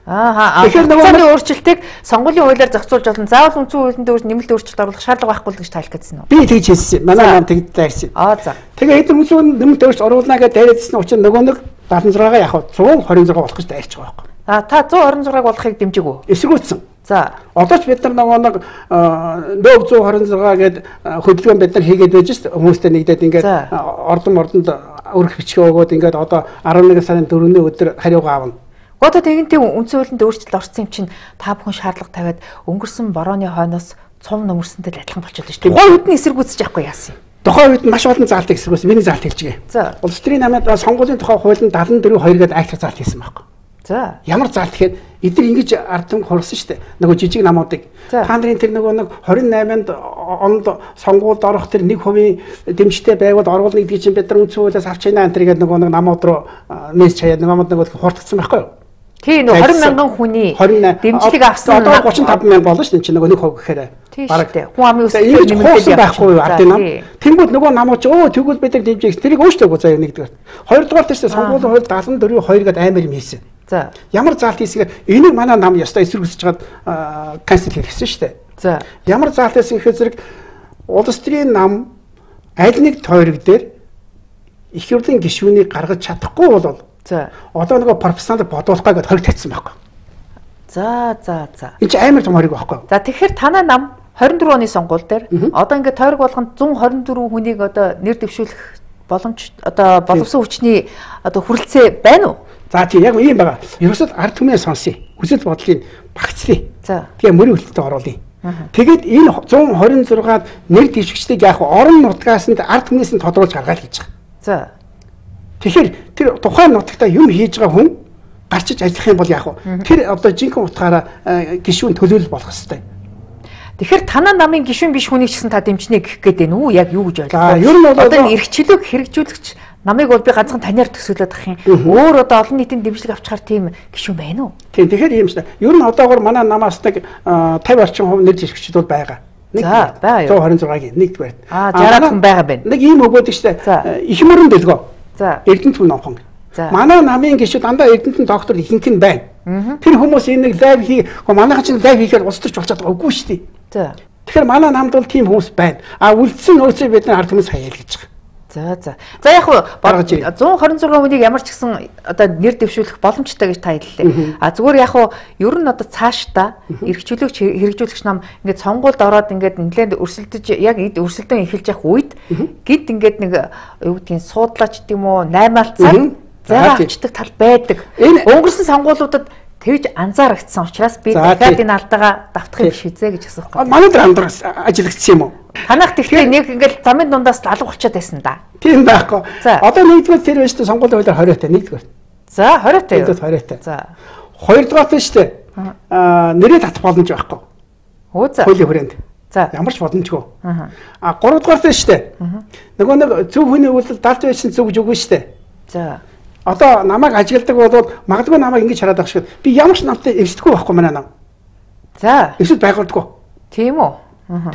Аа. Тэгэхээр нөгөө өөрчлөлтийг сонгуулийн хуулиар зохицуулж болно. Заавал үндсэн хуулинд өөр нэмэлт өөрчлөлт оруулах шаардлага байхгүй гэж тайлх гэсэн үү? Би тэгж хэлсэн. Манай нам тэгж дайрсан. Аа за. Тэгээ эдгээр үндсэн хуулинд нэмэлт өөрчлөлт оруулнаа гэж дайрсан учраас нөгөө нэг даатан зураагаа яг зуун хорин зураг болох гэж дайрч байгаа байхгүй. А та зуун хорин зураг болохыг дэмжиг үү? Эсэргүүцсэн. За. Одоо ч бид нар нөгөө нэг нөө зуун хорин зураг гээд хөдөлгөөн бид нар хийгээд байж шүү дээ. Хүмүүстэй нэгдээд ингээд ордон мордонд өрх бичгээ өгөөд ингээд одоо арван нэгэн сарын дөрөвний өдөр хариугаа авна. Одоо тэгэнтэй үндсэн хуулинд өөрчлөлт орсон юм чинь та бүхэн шаардлага тавиад өнгөрсөн борооны хойноос цум нөмөрсөнтэй адилхан болчиход шүү дээ. Тухайн үед нь эсэргүүцэж явахгүй яасан юм. Тухайн үед маш олон заалтыг эсэргүүцсэн. Миний заалт хэлчихье. За. Улс төрийн намайг сонгуулийн тухай хуулинд дадлан дөрөв хоёр гээд акт заалт хийсэн байхгүй. За. Ямар заалт гэхээр эдгээр ингэж ард түмэг хурсан шүү дээ. Нөгөө жижиг намуудыг. Та нарын тэр нөгөө нэг двадцать восьманд онд сонгуульд орох тэр нэг хувийн дэмжтэй байвал оруулна гэдгийг чинь бид нар үндсэн хуулиас авч байна энэ гэдэг нөгөө нэг намууд руу мессеж хаяад намууд нөгөө хурдсан байхгүй юу? Тийм нөгөө двадцать мянган хүний дэмжлэг авсан. Одоо тридцать пять мянга болно шүү дээ. Чи нөгөө нэг хувь гэхээр бараг хүн амын өсөлт нэмэгдэл байхгүй юу ардын нам. Тэнгүүд нөгөө намууд өө тэгвэл бид нар дэмжих тэрийг өөрчлөөгүй заяа нэгдүгээр. Хоёрдугаар тэрс сонгуулийн хууль дадлан дөрөв хоёр гээд аймаар юм хийсэн. За. Ямар заалт хийсгээр энийг манай нам ястай эсэргүүцэж чад канцел хийсэн шүү дээ. За. Ямар заалт хийсэн гэхээр зэрэг улс төрийн нам аль нэг тойрог дээр их хурлын гишүүнийг гаргаж чадахгүй бол за. Одоо нөгөө профессионал бодуулах гээд хориг татсан байхгүй. За за за. Энд чинь амар том хориг байхгүй. За тэгэхээр танай нам двадцать дөрөв оны сонгуул дээр одоо ингээд тойрог болгонд one twenty four хүнийг одоо нэр дэвшүүлэх боломж одоо боловсон хүчний одоо хүрэлцээ байна уу? За тийм яг ийм байгаа. Ерөөсөө ард түмээ сонсъё. Хүсэл бодлыг багцлаа. За. Тэгээ мөрийн хөлтөд оруулъя. Тэгэд энэ one twenty six-аад нэр дэвшигчдийг яг орон нутгаас нь ард түмнээс нь тодруулж гаргаад хийж байгаа. За. Тэгэхээр тэр тухайн нутагта юм хийж байгаа хүн гарчиж ажиллах юм бол яг нь тэр одоо жинхэнэ утгаараа гишүүн төлөөлөл болох ёстой. Тэгэхээр танаа намын гишүүн биш хүнийг ч гэсэн та дэмжнэ гэх гээд байна уу? Яг юу гэж ойлгох вэ? За ер нь бол одоо энэ эрхчлөөг хэрэгжүүлэгч намайг бол би ганцхан таниар төсөөлөд ах юм. Өөр одоо олон нийтийн дэмжлэг авчаар тийм гишүүн байна уу? Тийм тэгэхээр юм шиг. Ер нь одоогор манай намаас нэг fifty орчим хувь нэр дэвшигчд бол байгаа. За байгаа юу? one twenty-six-гийн нэгдүгээр. Аа sixty хүн байгаа байна. Нэг ийм өгөөд штэ. Их мөрөн дэлгөө. За. Эрдэнэт хүн номхон. Манай намын гишүүд дандаа Эрдэнэтэн доктор ихэнх нь байна. Тэр хүмүүс энэ нэг лайв хий, манайхан чинь лайв хийхээр улс төрч болчиход байгаа үгүй шүү дээ. За. Тэгэхээр манай намд бол тийм хүмүүс байна. А үлдсэн нөөцөө бид нар ард хүмүүс хаяа л гэж байгаа. За за. За яг one twenty six хүнийг ямар ч гэсэн одоо нэр дэвшүүлэх боломжтой гэж та хэллээ. А зүгээр яг ер нь одоо цаашдаа эрхчлөөч хэрэгжүүлэгч нам ингээд сонгуульд ороод ингээд нэлээд өрсөлдөж яг өрсөлдөөн эхэлж явах үед гид ингээд нэг юу гэдгийг суудлаач гэдэг юм уу наймаалцаа зайгаа авчдаг тал байдаг. Өнгөрсөн сонгуулиудад тэгж анзаарагдсан учраас би дахиад энэ алдаагаа давтах юм биш үзье гэж асуух гэдэг. Манай дээр андраас ажиллагдсан юм уу? Танах тэгтээ нэг ингээд замын дундаас алга болчиход байсан да. Тийм байхгүй. Одоо нэгдүгээр тэр байж та сонгуулийн хуулиар хориотой нэгдүгээр. За хориотой. Нэгдүгээр хориотой. За. Хоёрдугаар нь шүү дээ. Аа нэрээ татах боломж байхгүй. Оо за. Хуулийн хүрээнд. За. Ямар ч боломжгүй. Аа гуравдугаар нь шүү дээ. Нөгөө нэг зөв хүний үйлдэл далж байсан зөв гэж үгүй шүү дээ. За. Одоо намайг ажигладаг бол магадгүй намайг ингэж хараад байгаа шиг би ямар ч намтай эвсдэггүй байхгүй манай нам. За. Эвсэл байгуулдаггүй. Тийм үү?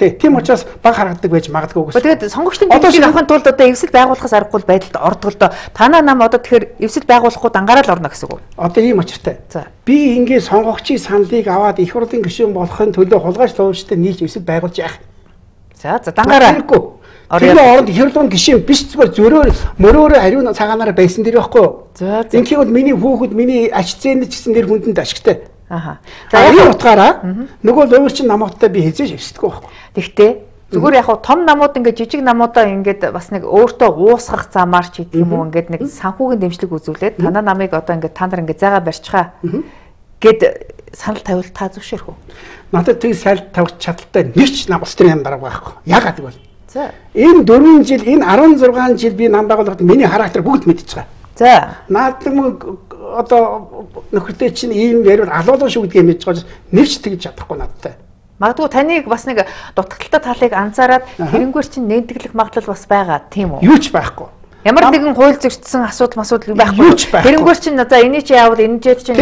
Тий, тийм учраас баг харагддаг байж магадгүй гэсэн. Тэгээд сонгогчдын дэмжлэг авахын тулд одоо эвсэл байгуулахаас аргагүй байдалд ордог л доо. Танаа нам одоо тэгэхээр эвсэл байгуулахгүй дангараа л орно гэсэн үг. Одоо ийм очиртай. За. Би ингээд сонгогчийн саналыг аваад их хурлын гишүүн болохын төлөө хулгайч төвчтэй нийлж эвсэл байгуулж яах. За, за дангараа. Тэр оронд их хурлын гишүүн биш зүгээр зөрөөр мөрөөрөө хариу цагаанаараа байсан дэр байхгүй юу? За. Инхийн бол миний хүүхэд миний ач зээнд ч гэсэн нэр хүндэнд ашигтай. Аха. За энэ утгаараа нөгөө луурчин намуудтай би хязгаарч хэвсдэггүй байхгүй. Тэгтээ зүгээр яг том намууд ингээд жижиг намуудаа ингээд бас нэг өөртөө уусгах замаар ч гэдэг юм уу ингээд нэг санхүүгийн дэмжлэг үзүүлээд танаа намыг одоо ингээд та нар ингээд зайгаа барьчихаа гэд санал тавил та зөвшөөрөх үү? Надад тэг санал тавих чадaltaй нэг ч нам улс төрийн нам дараагүй байхгүй. Яагаад гэвэл за энэ дөрвөн жил энэ sixteen жил би нам байгуулахад миний характер бүгд мэдчихэж байгаа. За наадам одоо нөхөртэй чинь ийм ярил алуулаа шүү гэдгийг мэдж байгаа нэвч тэгж чадахгүй надтай. Магадгүй таныг бас нэг дутагдaltaй талыг анзаараад тэрнгүүр чинь нэнтэглэх магадлал бас байгаа тийм үү? Юу ч байхгүй. Ямар нэгэн хууль зөрчсөн асуудал асуудал байхгүй. Тэрнгүүр чинь за энэ чи яавал энэ ч чинь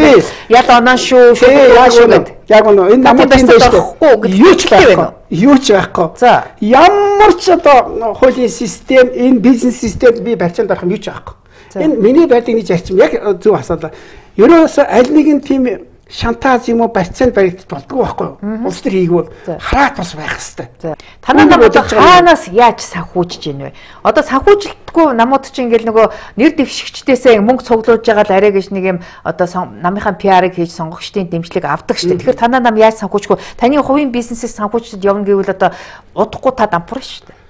ял оноо шүү шүү. Яг үнэ энэ намайг дэжтэй. Юу ч байхгүй. Юу ч байхгүй. За ямар ч одоо хуулийн систем, энэ бизнес систем би барьцаанд орох юм юу ч байхгүй. Энэ миний байдаг нэг зарчим яг зөв асуудал. Ерөөсөө аль нэгэн тийм шантаж юм уу барьцаанд баригдаж болдгоо байхгүй юу? Улс төр хийгвэл хараат бас байх хэвээр. Танаа нам одоо хаанаас яаж санхүүжж гин вэ? Одоо санхүүжилтгүй намууд чинь ингээл нөгөө нэр дэвшигчдээсээ мөнгө цуглуулж байгаа л арай гэж нэг юм одоо намынхаа пи ар-ыг хийж сонгогчдын дэмжлэг авдаг шүү дээ. Тэгэхээр танаа нам яаж санхүүжгүй? Таны хувийн бизнесээс санхүүжчд явна гэвэл одоо удахгүй та дампуурна шүү дээ.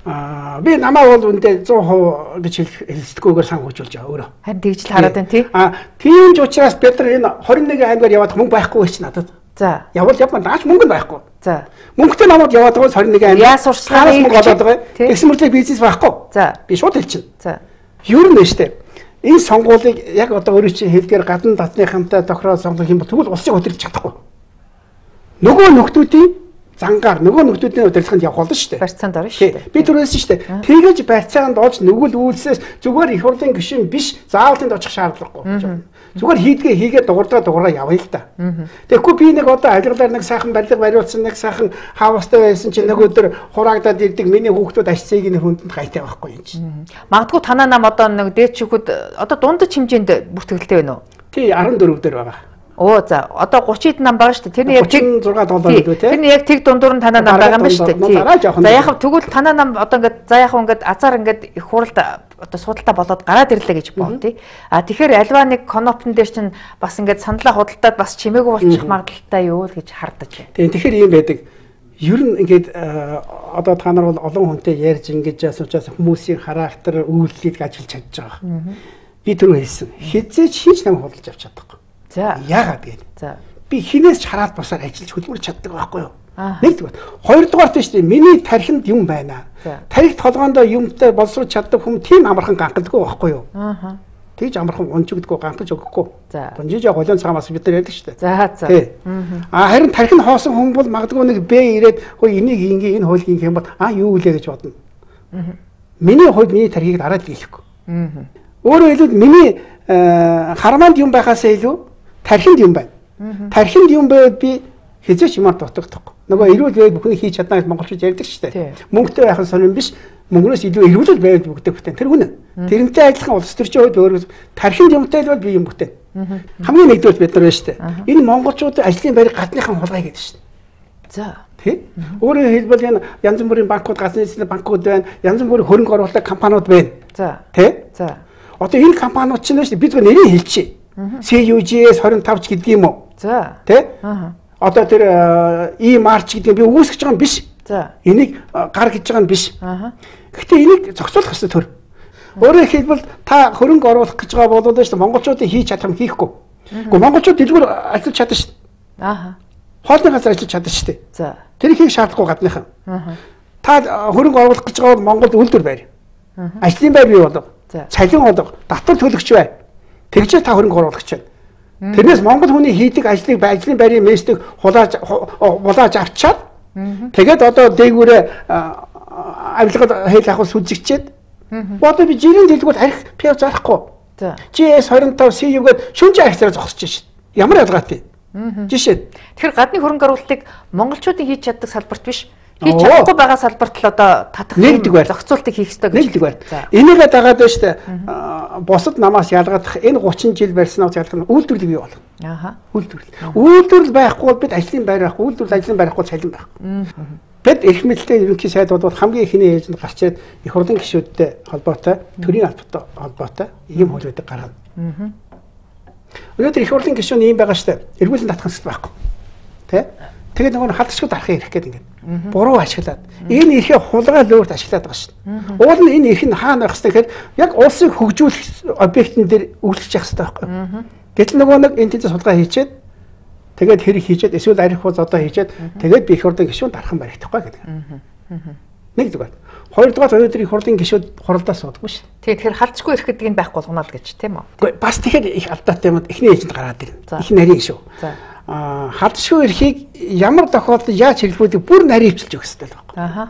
Аа би намаа бол үндэ сто процент гэж хэлцдэггүйгээр санхүүжүүлж байгаа өөрөө. Харин тэгж л хараад байна тий. Аа тийм ч учраас бид нар энэ двадцать нэгэн аймгаар яваад мөнгө байхгүй ч надад. За. Явал явмаа наач мөнгө байхгүй. За. Мөнгөтэй намууд яваад байгаа двадцать нэгэн аймаг. Яа сурчлагын мөнгө олоод байгаа. Тэгсэн мэт бизнес байхгүй. За. Би шууд хэлчихнэ. За. Юу нэ штэ. Энэ сонгуулийг яг одоо өөрөө чинь хэлгээр гадна татныхантай тохироо сонгох юм бол тэгвэл улсыг удирдах чадахгүй. Нөгөө нөхдүүдийн зангаар нөгөө нөхдүүдийн удирдлаганд явах болно шүү дээ. Барьцаанд орно шүү дээ. Би түрүүлсэн шүү дээ. Тэгэж барьцаанд олж нүгэл үйлсээс зүгээр их хурлын гишүүн биш заавал тэнд очих шаардлагагүй. Зүгээр хийдгээ хийгээд дугуйдаа дугуйдаа явъя л да. Тэгэхгүй би нэг одоо ажиглаар нэг сайхан барилга бариулсан нэг сайхан хавастай байсан чинь нэг өдөр хураагдаад ирдэг миний хүүхдүүд ашцыг нэг хүндэнд гайтай байхгүй юм чинь. Магадгүй танаа нам одоо нэг дээд шүүхэд одоо дундаж хэмжээнд бүртгэлтэй байна уу? Тий арван дөрөв дээр байгаа. Оо за одоо тридцать нам байгаа шүү дээ. Тэрний яг тридцать шесть доллар үү те. Тэрний яг тэг дундуур нь танаа нам байгаа юм шүү дээ. За яг тэгвэл танаа нам одоо ингээд за яг ингээд азар ингээд их хуралд одоо судалтай болоод гараад ирлээ гэж боо тий. А тэгэхээр альва нэг конопн дээр чинь бас ингээд сандлаа худалдаад бас чимээгүй болчих магадaltaй юу л гэж хардаж байна. Тийм тэгэхээр ийм байдаг. Ер нь ингээд одоо та нар бол олон хүнтэй ярьж ингэж асуучаас хүмүүсийн характер үйлдэлийг ажиллаж чадж байгаа. Би түрүү хэлсэн. Хизээч хийж нам худалдаж авч чадахгүй. За яагаад гээд. За би хинээс ч хараад босоор ажиллаж хөдөлмөр чаддаг байхгүй юу? Нэгдүгээр. Хоёрдугаарт нь шүү дээ. Миний тархинд юм байна. Тархи толгоондоо юмтай боловсруулж чаддаг хүн тийм амархан ганхалдаггүй байхгүй юу? Аа. Тэгж амархан унжигдггүй ганхалж өгөхгүй. За. Гонжиж голын цагаамаас бид нар ярьдаг шүү дээ. За за. Аа харин тархи нь хоосон хүн бол магадгүй нэг бэ ирээд хөө энийг ингээ энэ хуулийг юм бол аа юу үлээ гэж бодно. Аа. Миний хувьд миний тархийг дараад дийлэхгүй. Аа. Өөрөөр хэлбэл миний хараманд юм байхаасаа илүү тархинд юм байна. Тархинд юм байвал би хизээч юмар дутагдахгүй. Нөгөө эрүүл байвал бүхнийг хийж чадна гэж монголчууд ярьдаг шүү дээ. Мөнгөтэй байх нь сонирн биш. Мөнгнөөс илүү эрүүл байвал бүгдээ бүтээн. Тэр үнэ. Тэрнтэй адилхан улс төрчийн хувьд өөрөө тархинд юмтай бол би юм бүтээн. Хамгийн нэгдүгээр бид нар байна шүү дээ. Энэ монголчууд ажлын байр гадныхан хулгай гэдэг шүү дээ. За. Тэ? Өөрөөр хэлбэл энэ янз бүрийн банкуд, газрын эзлэх банкуд байна. Янз бүрийн хөрөнгө оруулалтын компаниуд байна. За. Тэ? За. Одоо энэ компаниуд чинь шүү дээ бид зөв нэрийг хэлчихье. си ю джи эс двадцать пять ч гэдэг юм уу? За. Тэ? Аа. Одоо тэр E-March гэдэг би үүсгэж байгаа юм биш. За. Энийг гар гэж байгаа юм биш. Аа. Гэхдээ энийг зохицуулах хэрэгтэй төр. Өөрөөр хэлбэл та хөрөнгө оруулах гэж байгаа болоод шүү дээ монголчуудын хийж чадах юм хийхгүй. Гэхдээ монголчууд дэлгүүр ажиллаж чадна шүү дээ. Аа. Хоолны газар ажиллаж чадна шүү дээ. За. Тэр хийх шаардлагагүй гадныхан. Аа. Та хөрөнгө оруулах гэж байгаа бол Монголд үйлдвэр байр. Аа. Ажлын байр бий болов. Цалин олго, татвар төлөгч бай. Тэгжээ та хөрөнгө оруулагч байна. Тэрнээс Монгол хүний хийдэг ажлыг ажлын байрын мэстэг хулааж хулааж авчаад тэгээд одоо дээгүүрээ авилгал хэл ахвал сүлжигчээд одоо би жирийн дэлгүүр арих пиав зарахгүй. жи эс двадцать пять си ю-гээд шүнжээ архицаараа зогсож шít. Ямар ялгаатай. Жишээ. Тэгэхээр гадны хөрөнгө оруулалтыг монголчуудын хийж чаддаг салбарт биш хийж чадахгүй байгаа салбарт л одоо татах зохицуултыг хийх ёстой гэж байна. Энийгээ дагаад байна шүү дээ. Бусад намаас ялгадах энэ тридцать жил барьснаас ялгах үйлдвэрлэл бий болно. Ааха. Үйлдвэрлэл. Үйлдвэрлэл байхгүй бол бид ажлын байр байхгүй, үйлдвэрлэл ажлын байр байхгүй цалин байхгүй. Бид эрх мэдэлтэй ерөнхий сайд бол хамгийн ихний ээлжинд гарч ирээд их хурлын гишүүдтэй холбоотой, төрийн албатай холбоотой ийм хуулиудыг гаргана. Өнөөдөр их хурлын гишүүн ийм байгаа шүү дээ. Эргүүлэн татах хэрэгтэй байхгүй. Тэ? Тэгээд нөгөө халдшгүй дарахыг ирэх гээд ингээд буруу ашиглаад энэ эрхээ хулгай лөөрт ашиглаад байгаа шүү дээ. Уул нь энэ эрх нь хаана байх хэвээр яг улсыг хөгжүүлэх объектын дээр үйлчлэх хэрэгтэй байхгүй. Гэтэл нөгөө нэг энэ тэнд судалгаа хийчээд тэгээд хэрэг хийчээд эсвэл арих хуз одоо хийчээд тэгээд би их хурлын гишүүн дархан баригдахгүй гэдэг. Нэгдүгээр. Хоёрдугаар өнөөдөр их хурлын гишүүд хуралдаа суудаггүй шүү дээ. Тэгэхээр халдшгүй эрх гэдэг нь байхгүй болгоно л гэж тийм үү? Бас тэгэхээр их алдаатай юм. Эхний ээлжинд гараад ирнэ. Их нарийн шүү. халдшгүй эрхийг ямар тохиолдолд яаж хэрэглүүлдэг бүр нарийн хвчилж өгөх хэрэгтэй л байна. Аха.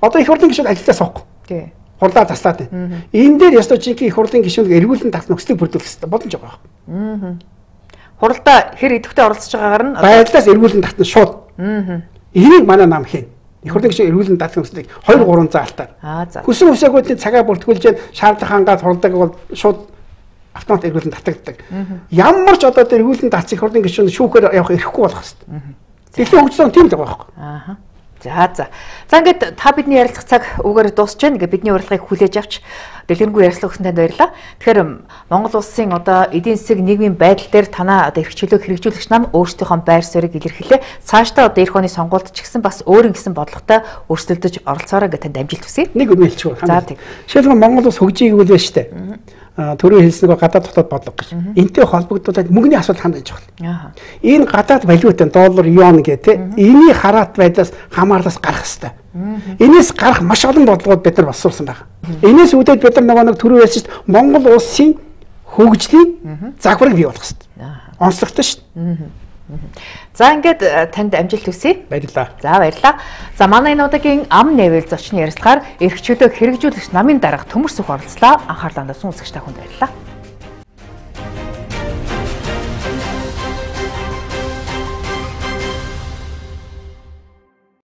Одоо их хурлын гишүүд ажилдаа суухгүй. Тий. Хурлаа таслаад байна. Энэ дээр ёстой жинхэнэ их хурлын гишүүнийг эргүүлэн татах нөхцөлийг бүрдүүлэх хэрэгтэй. Боломж байгаа байна. Аа. Хуралдаа хэр идэвхтэй оролцож байгаагаар нь байдлаас эргүүлэн татна шууд. Аа. Энийг манай нам хийн. Их хурлын гишүүн эргүүлэн татах нөхцөлийг хоёр гурван заалтаар. Аа за. Хүсэн үсээгүүдийн цагаа бүртгүүлж шаардлага хангаад хуралдааг бол шууд автомат эргүүлэн татагддаг. Ямар ч одоо тэр эргүүлэн татсан их хурлын гишүүн шүүхээр явах эрхгүй болох хэвээр. Дэлхийн хөгжлөн тийм л байгаа байхгүй. Аа. За за. За ингээд та бидний ярилцах цаг үгээр дуусч байна. Ингээд бидний урилгыг хүлээж авч дэлгэрэнгүй ярилцлага өгсөн танд баярлалаа. Тэгэхээр Монгол улсын одоо эдийн засаг нийгмийн байдал дээр танаа одоо эрх чөлөөг хэрэгжүүлэгч нам өөрсдийнхөө байр суурийг илэрхийлээ. Цаашдаа одоо эх оны сонгуульд ч гэсэн бас өөрийн гэсэн бодлоготой өрсөлдөж оролцоорой гэдэг танд амжилт хүсье. Нэг үнэ хэлчихв. За тийм. Жишээлбэл Монгол улс хөгжиж игэл байна шүү дээ. Төрийн хэлснэг гадаад дотоод бодлого гэж. Энтэй холбогдуулаад мөнгөний асуудал хандаж байгаа. Энэ гадаад валют доллар, юан гэх тээ. Энийг хараат байдлаас хамаарлаас гарах хэрэгтэй. Энээс гарах маш олон бодлогод бид нар боловсруулсан байна. Энээс үүдээд бид нар нөгөө нэг төрийн хэлсэн шүү дээ. Монгол улсын хөгжлийн загварыг бий болгох хэрэгтэй. Онцлогтой шүү дээ. За ингээд танд амжилт хүсье. Баярлалаа. За баярлалаа. За манай энэ удаагийн ам нэвэл зочны ярилцлагаар эрх чөлөөг хэрэгжүүлэгч намын дарга Төмөр Сүх оролцлоо. Анхаарлаа хандуулсан үзэгч та бүхэнд баярлалаа.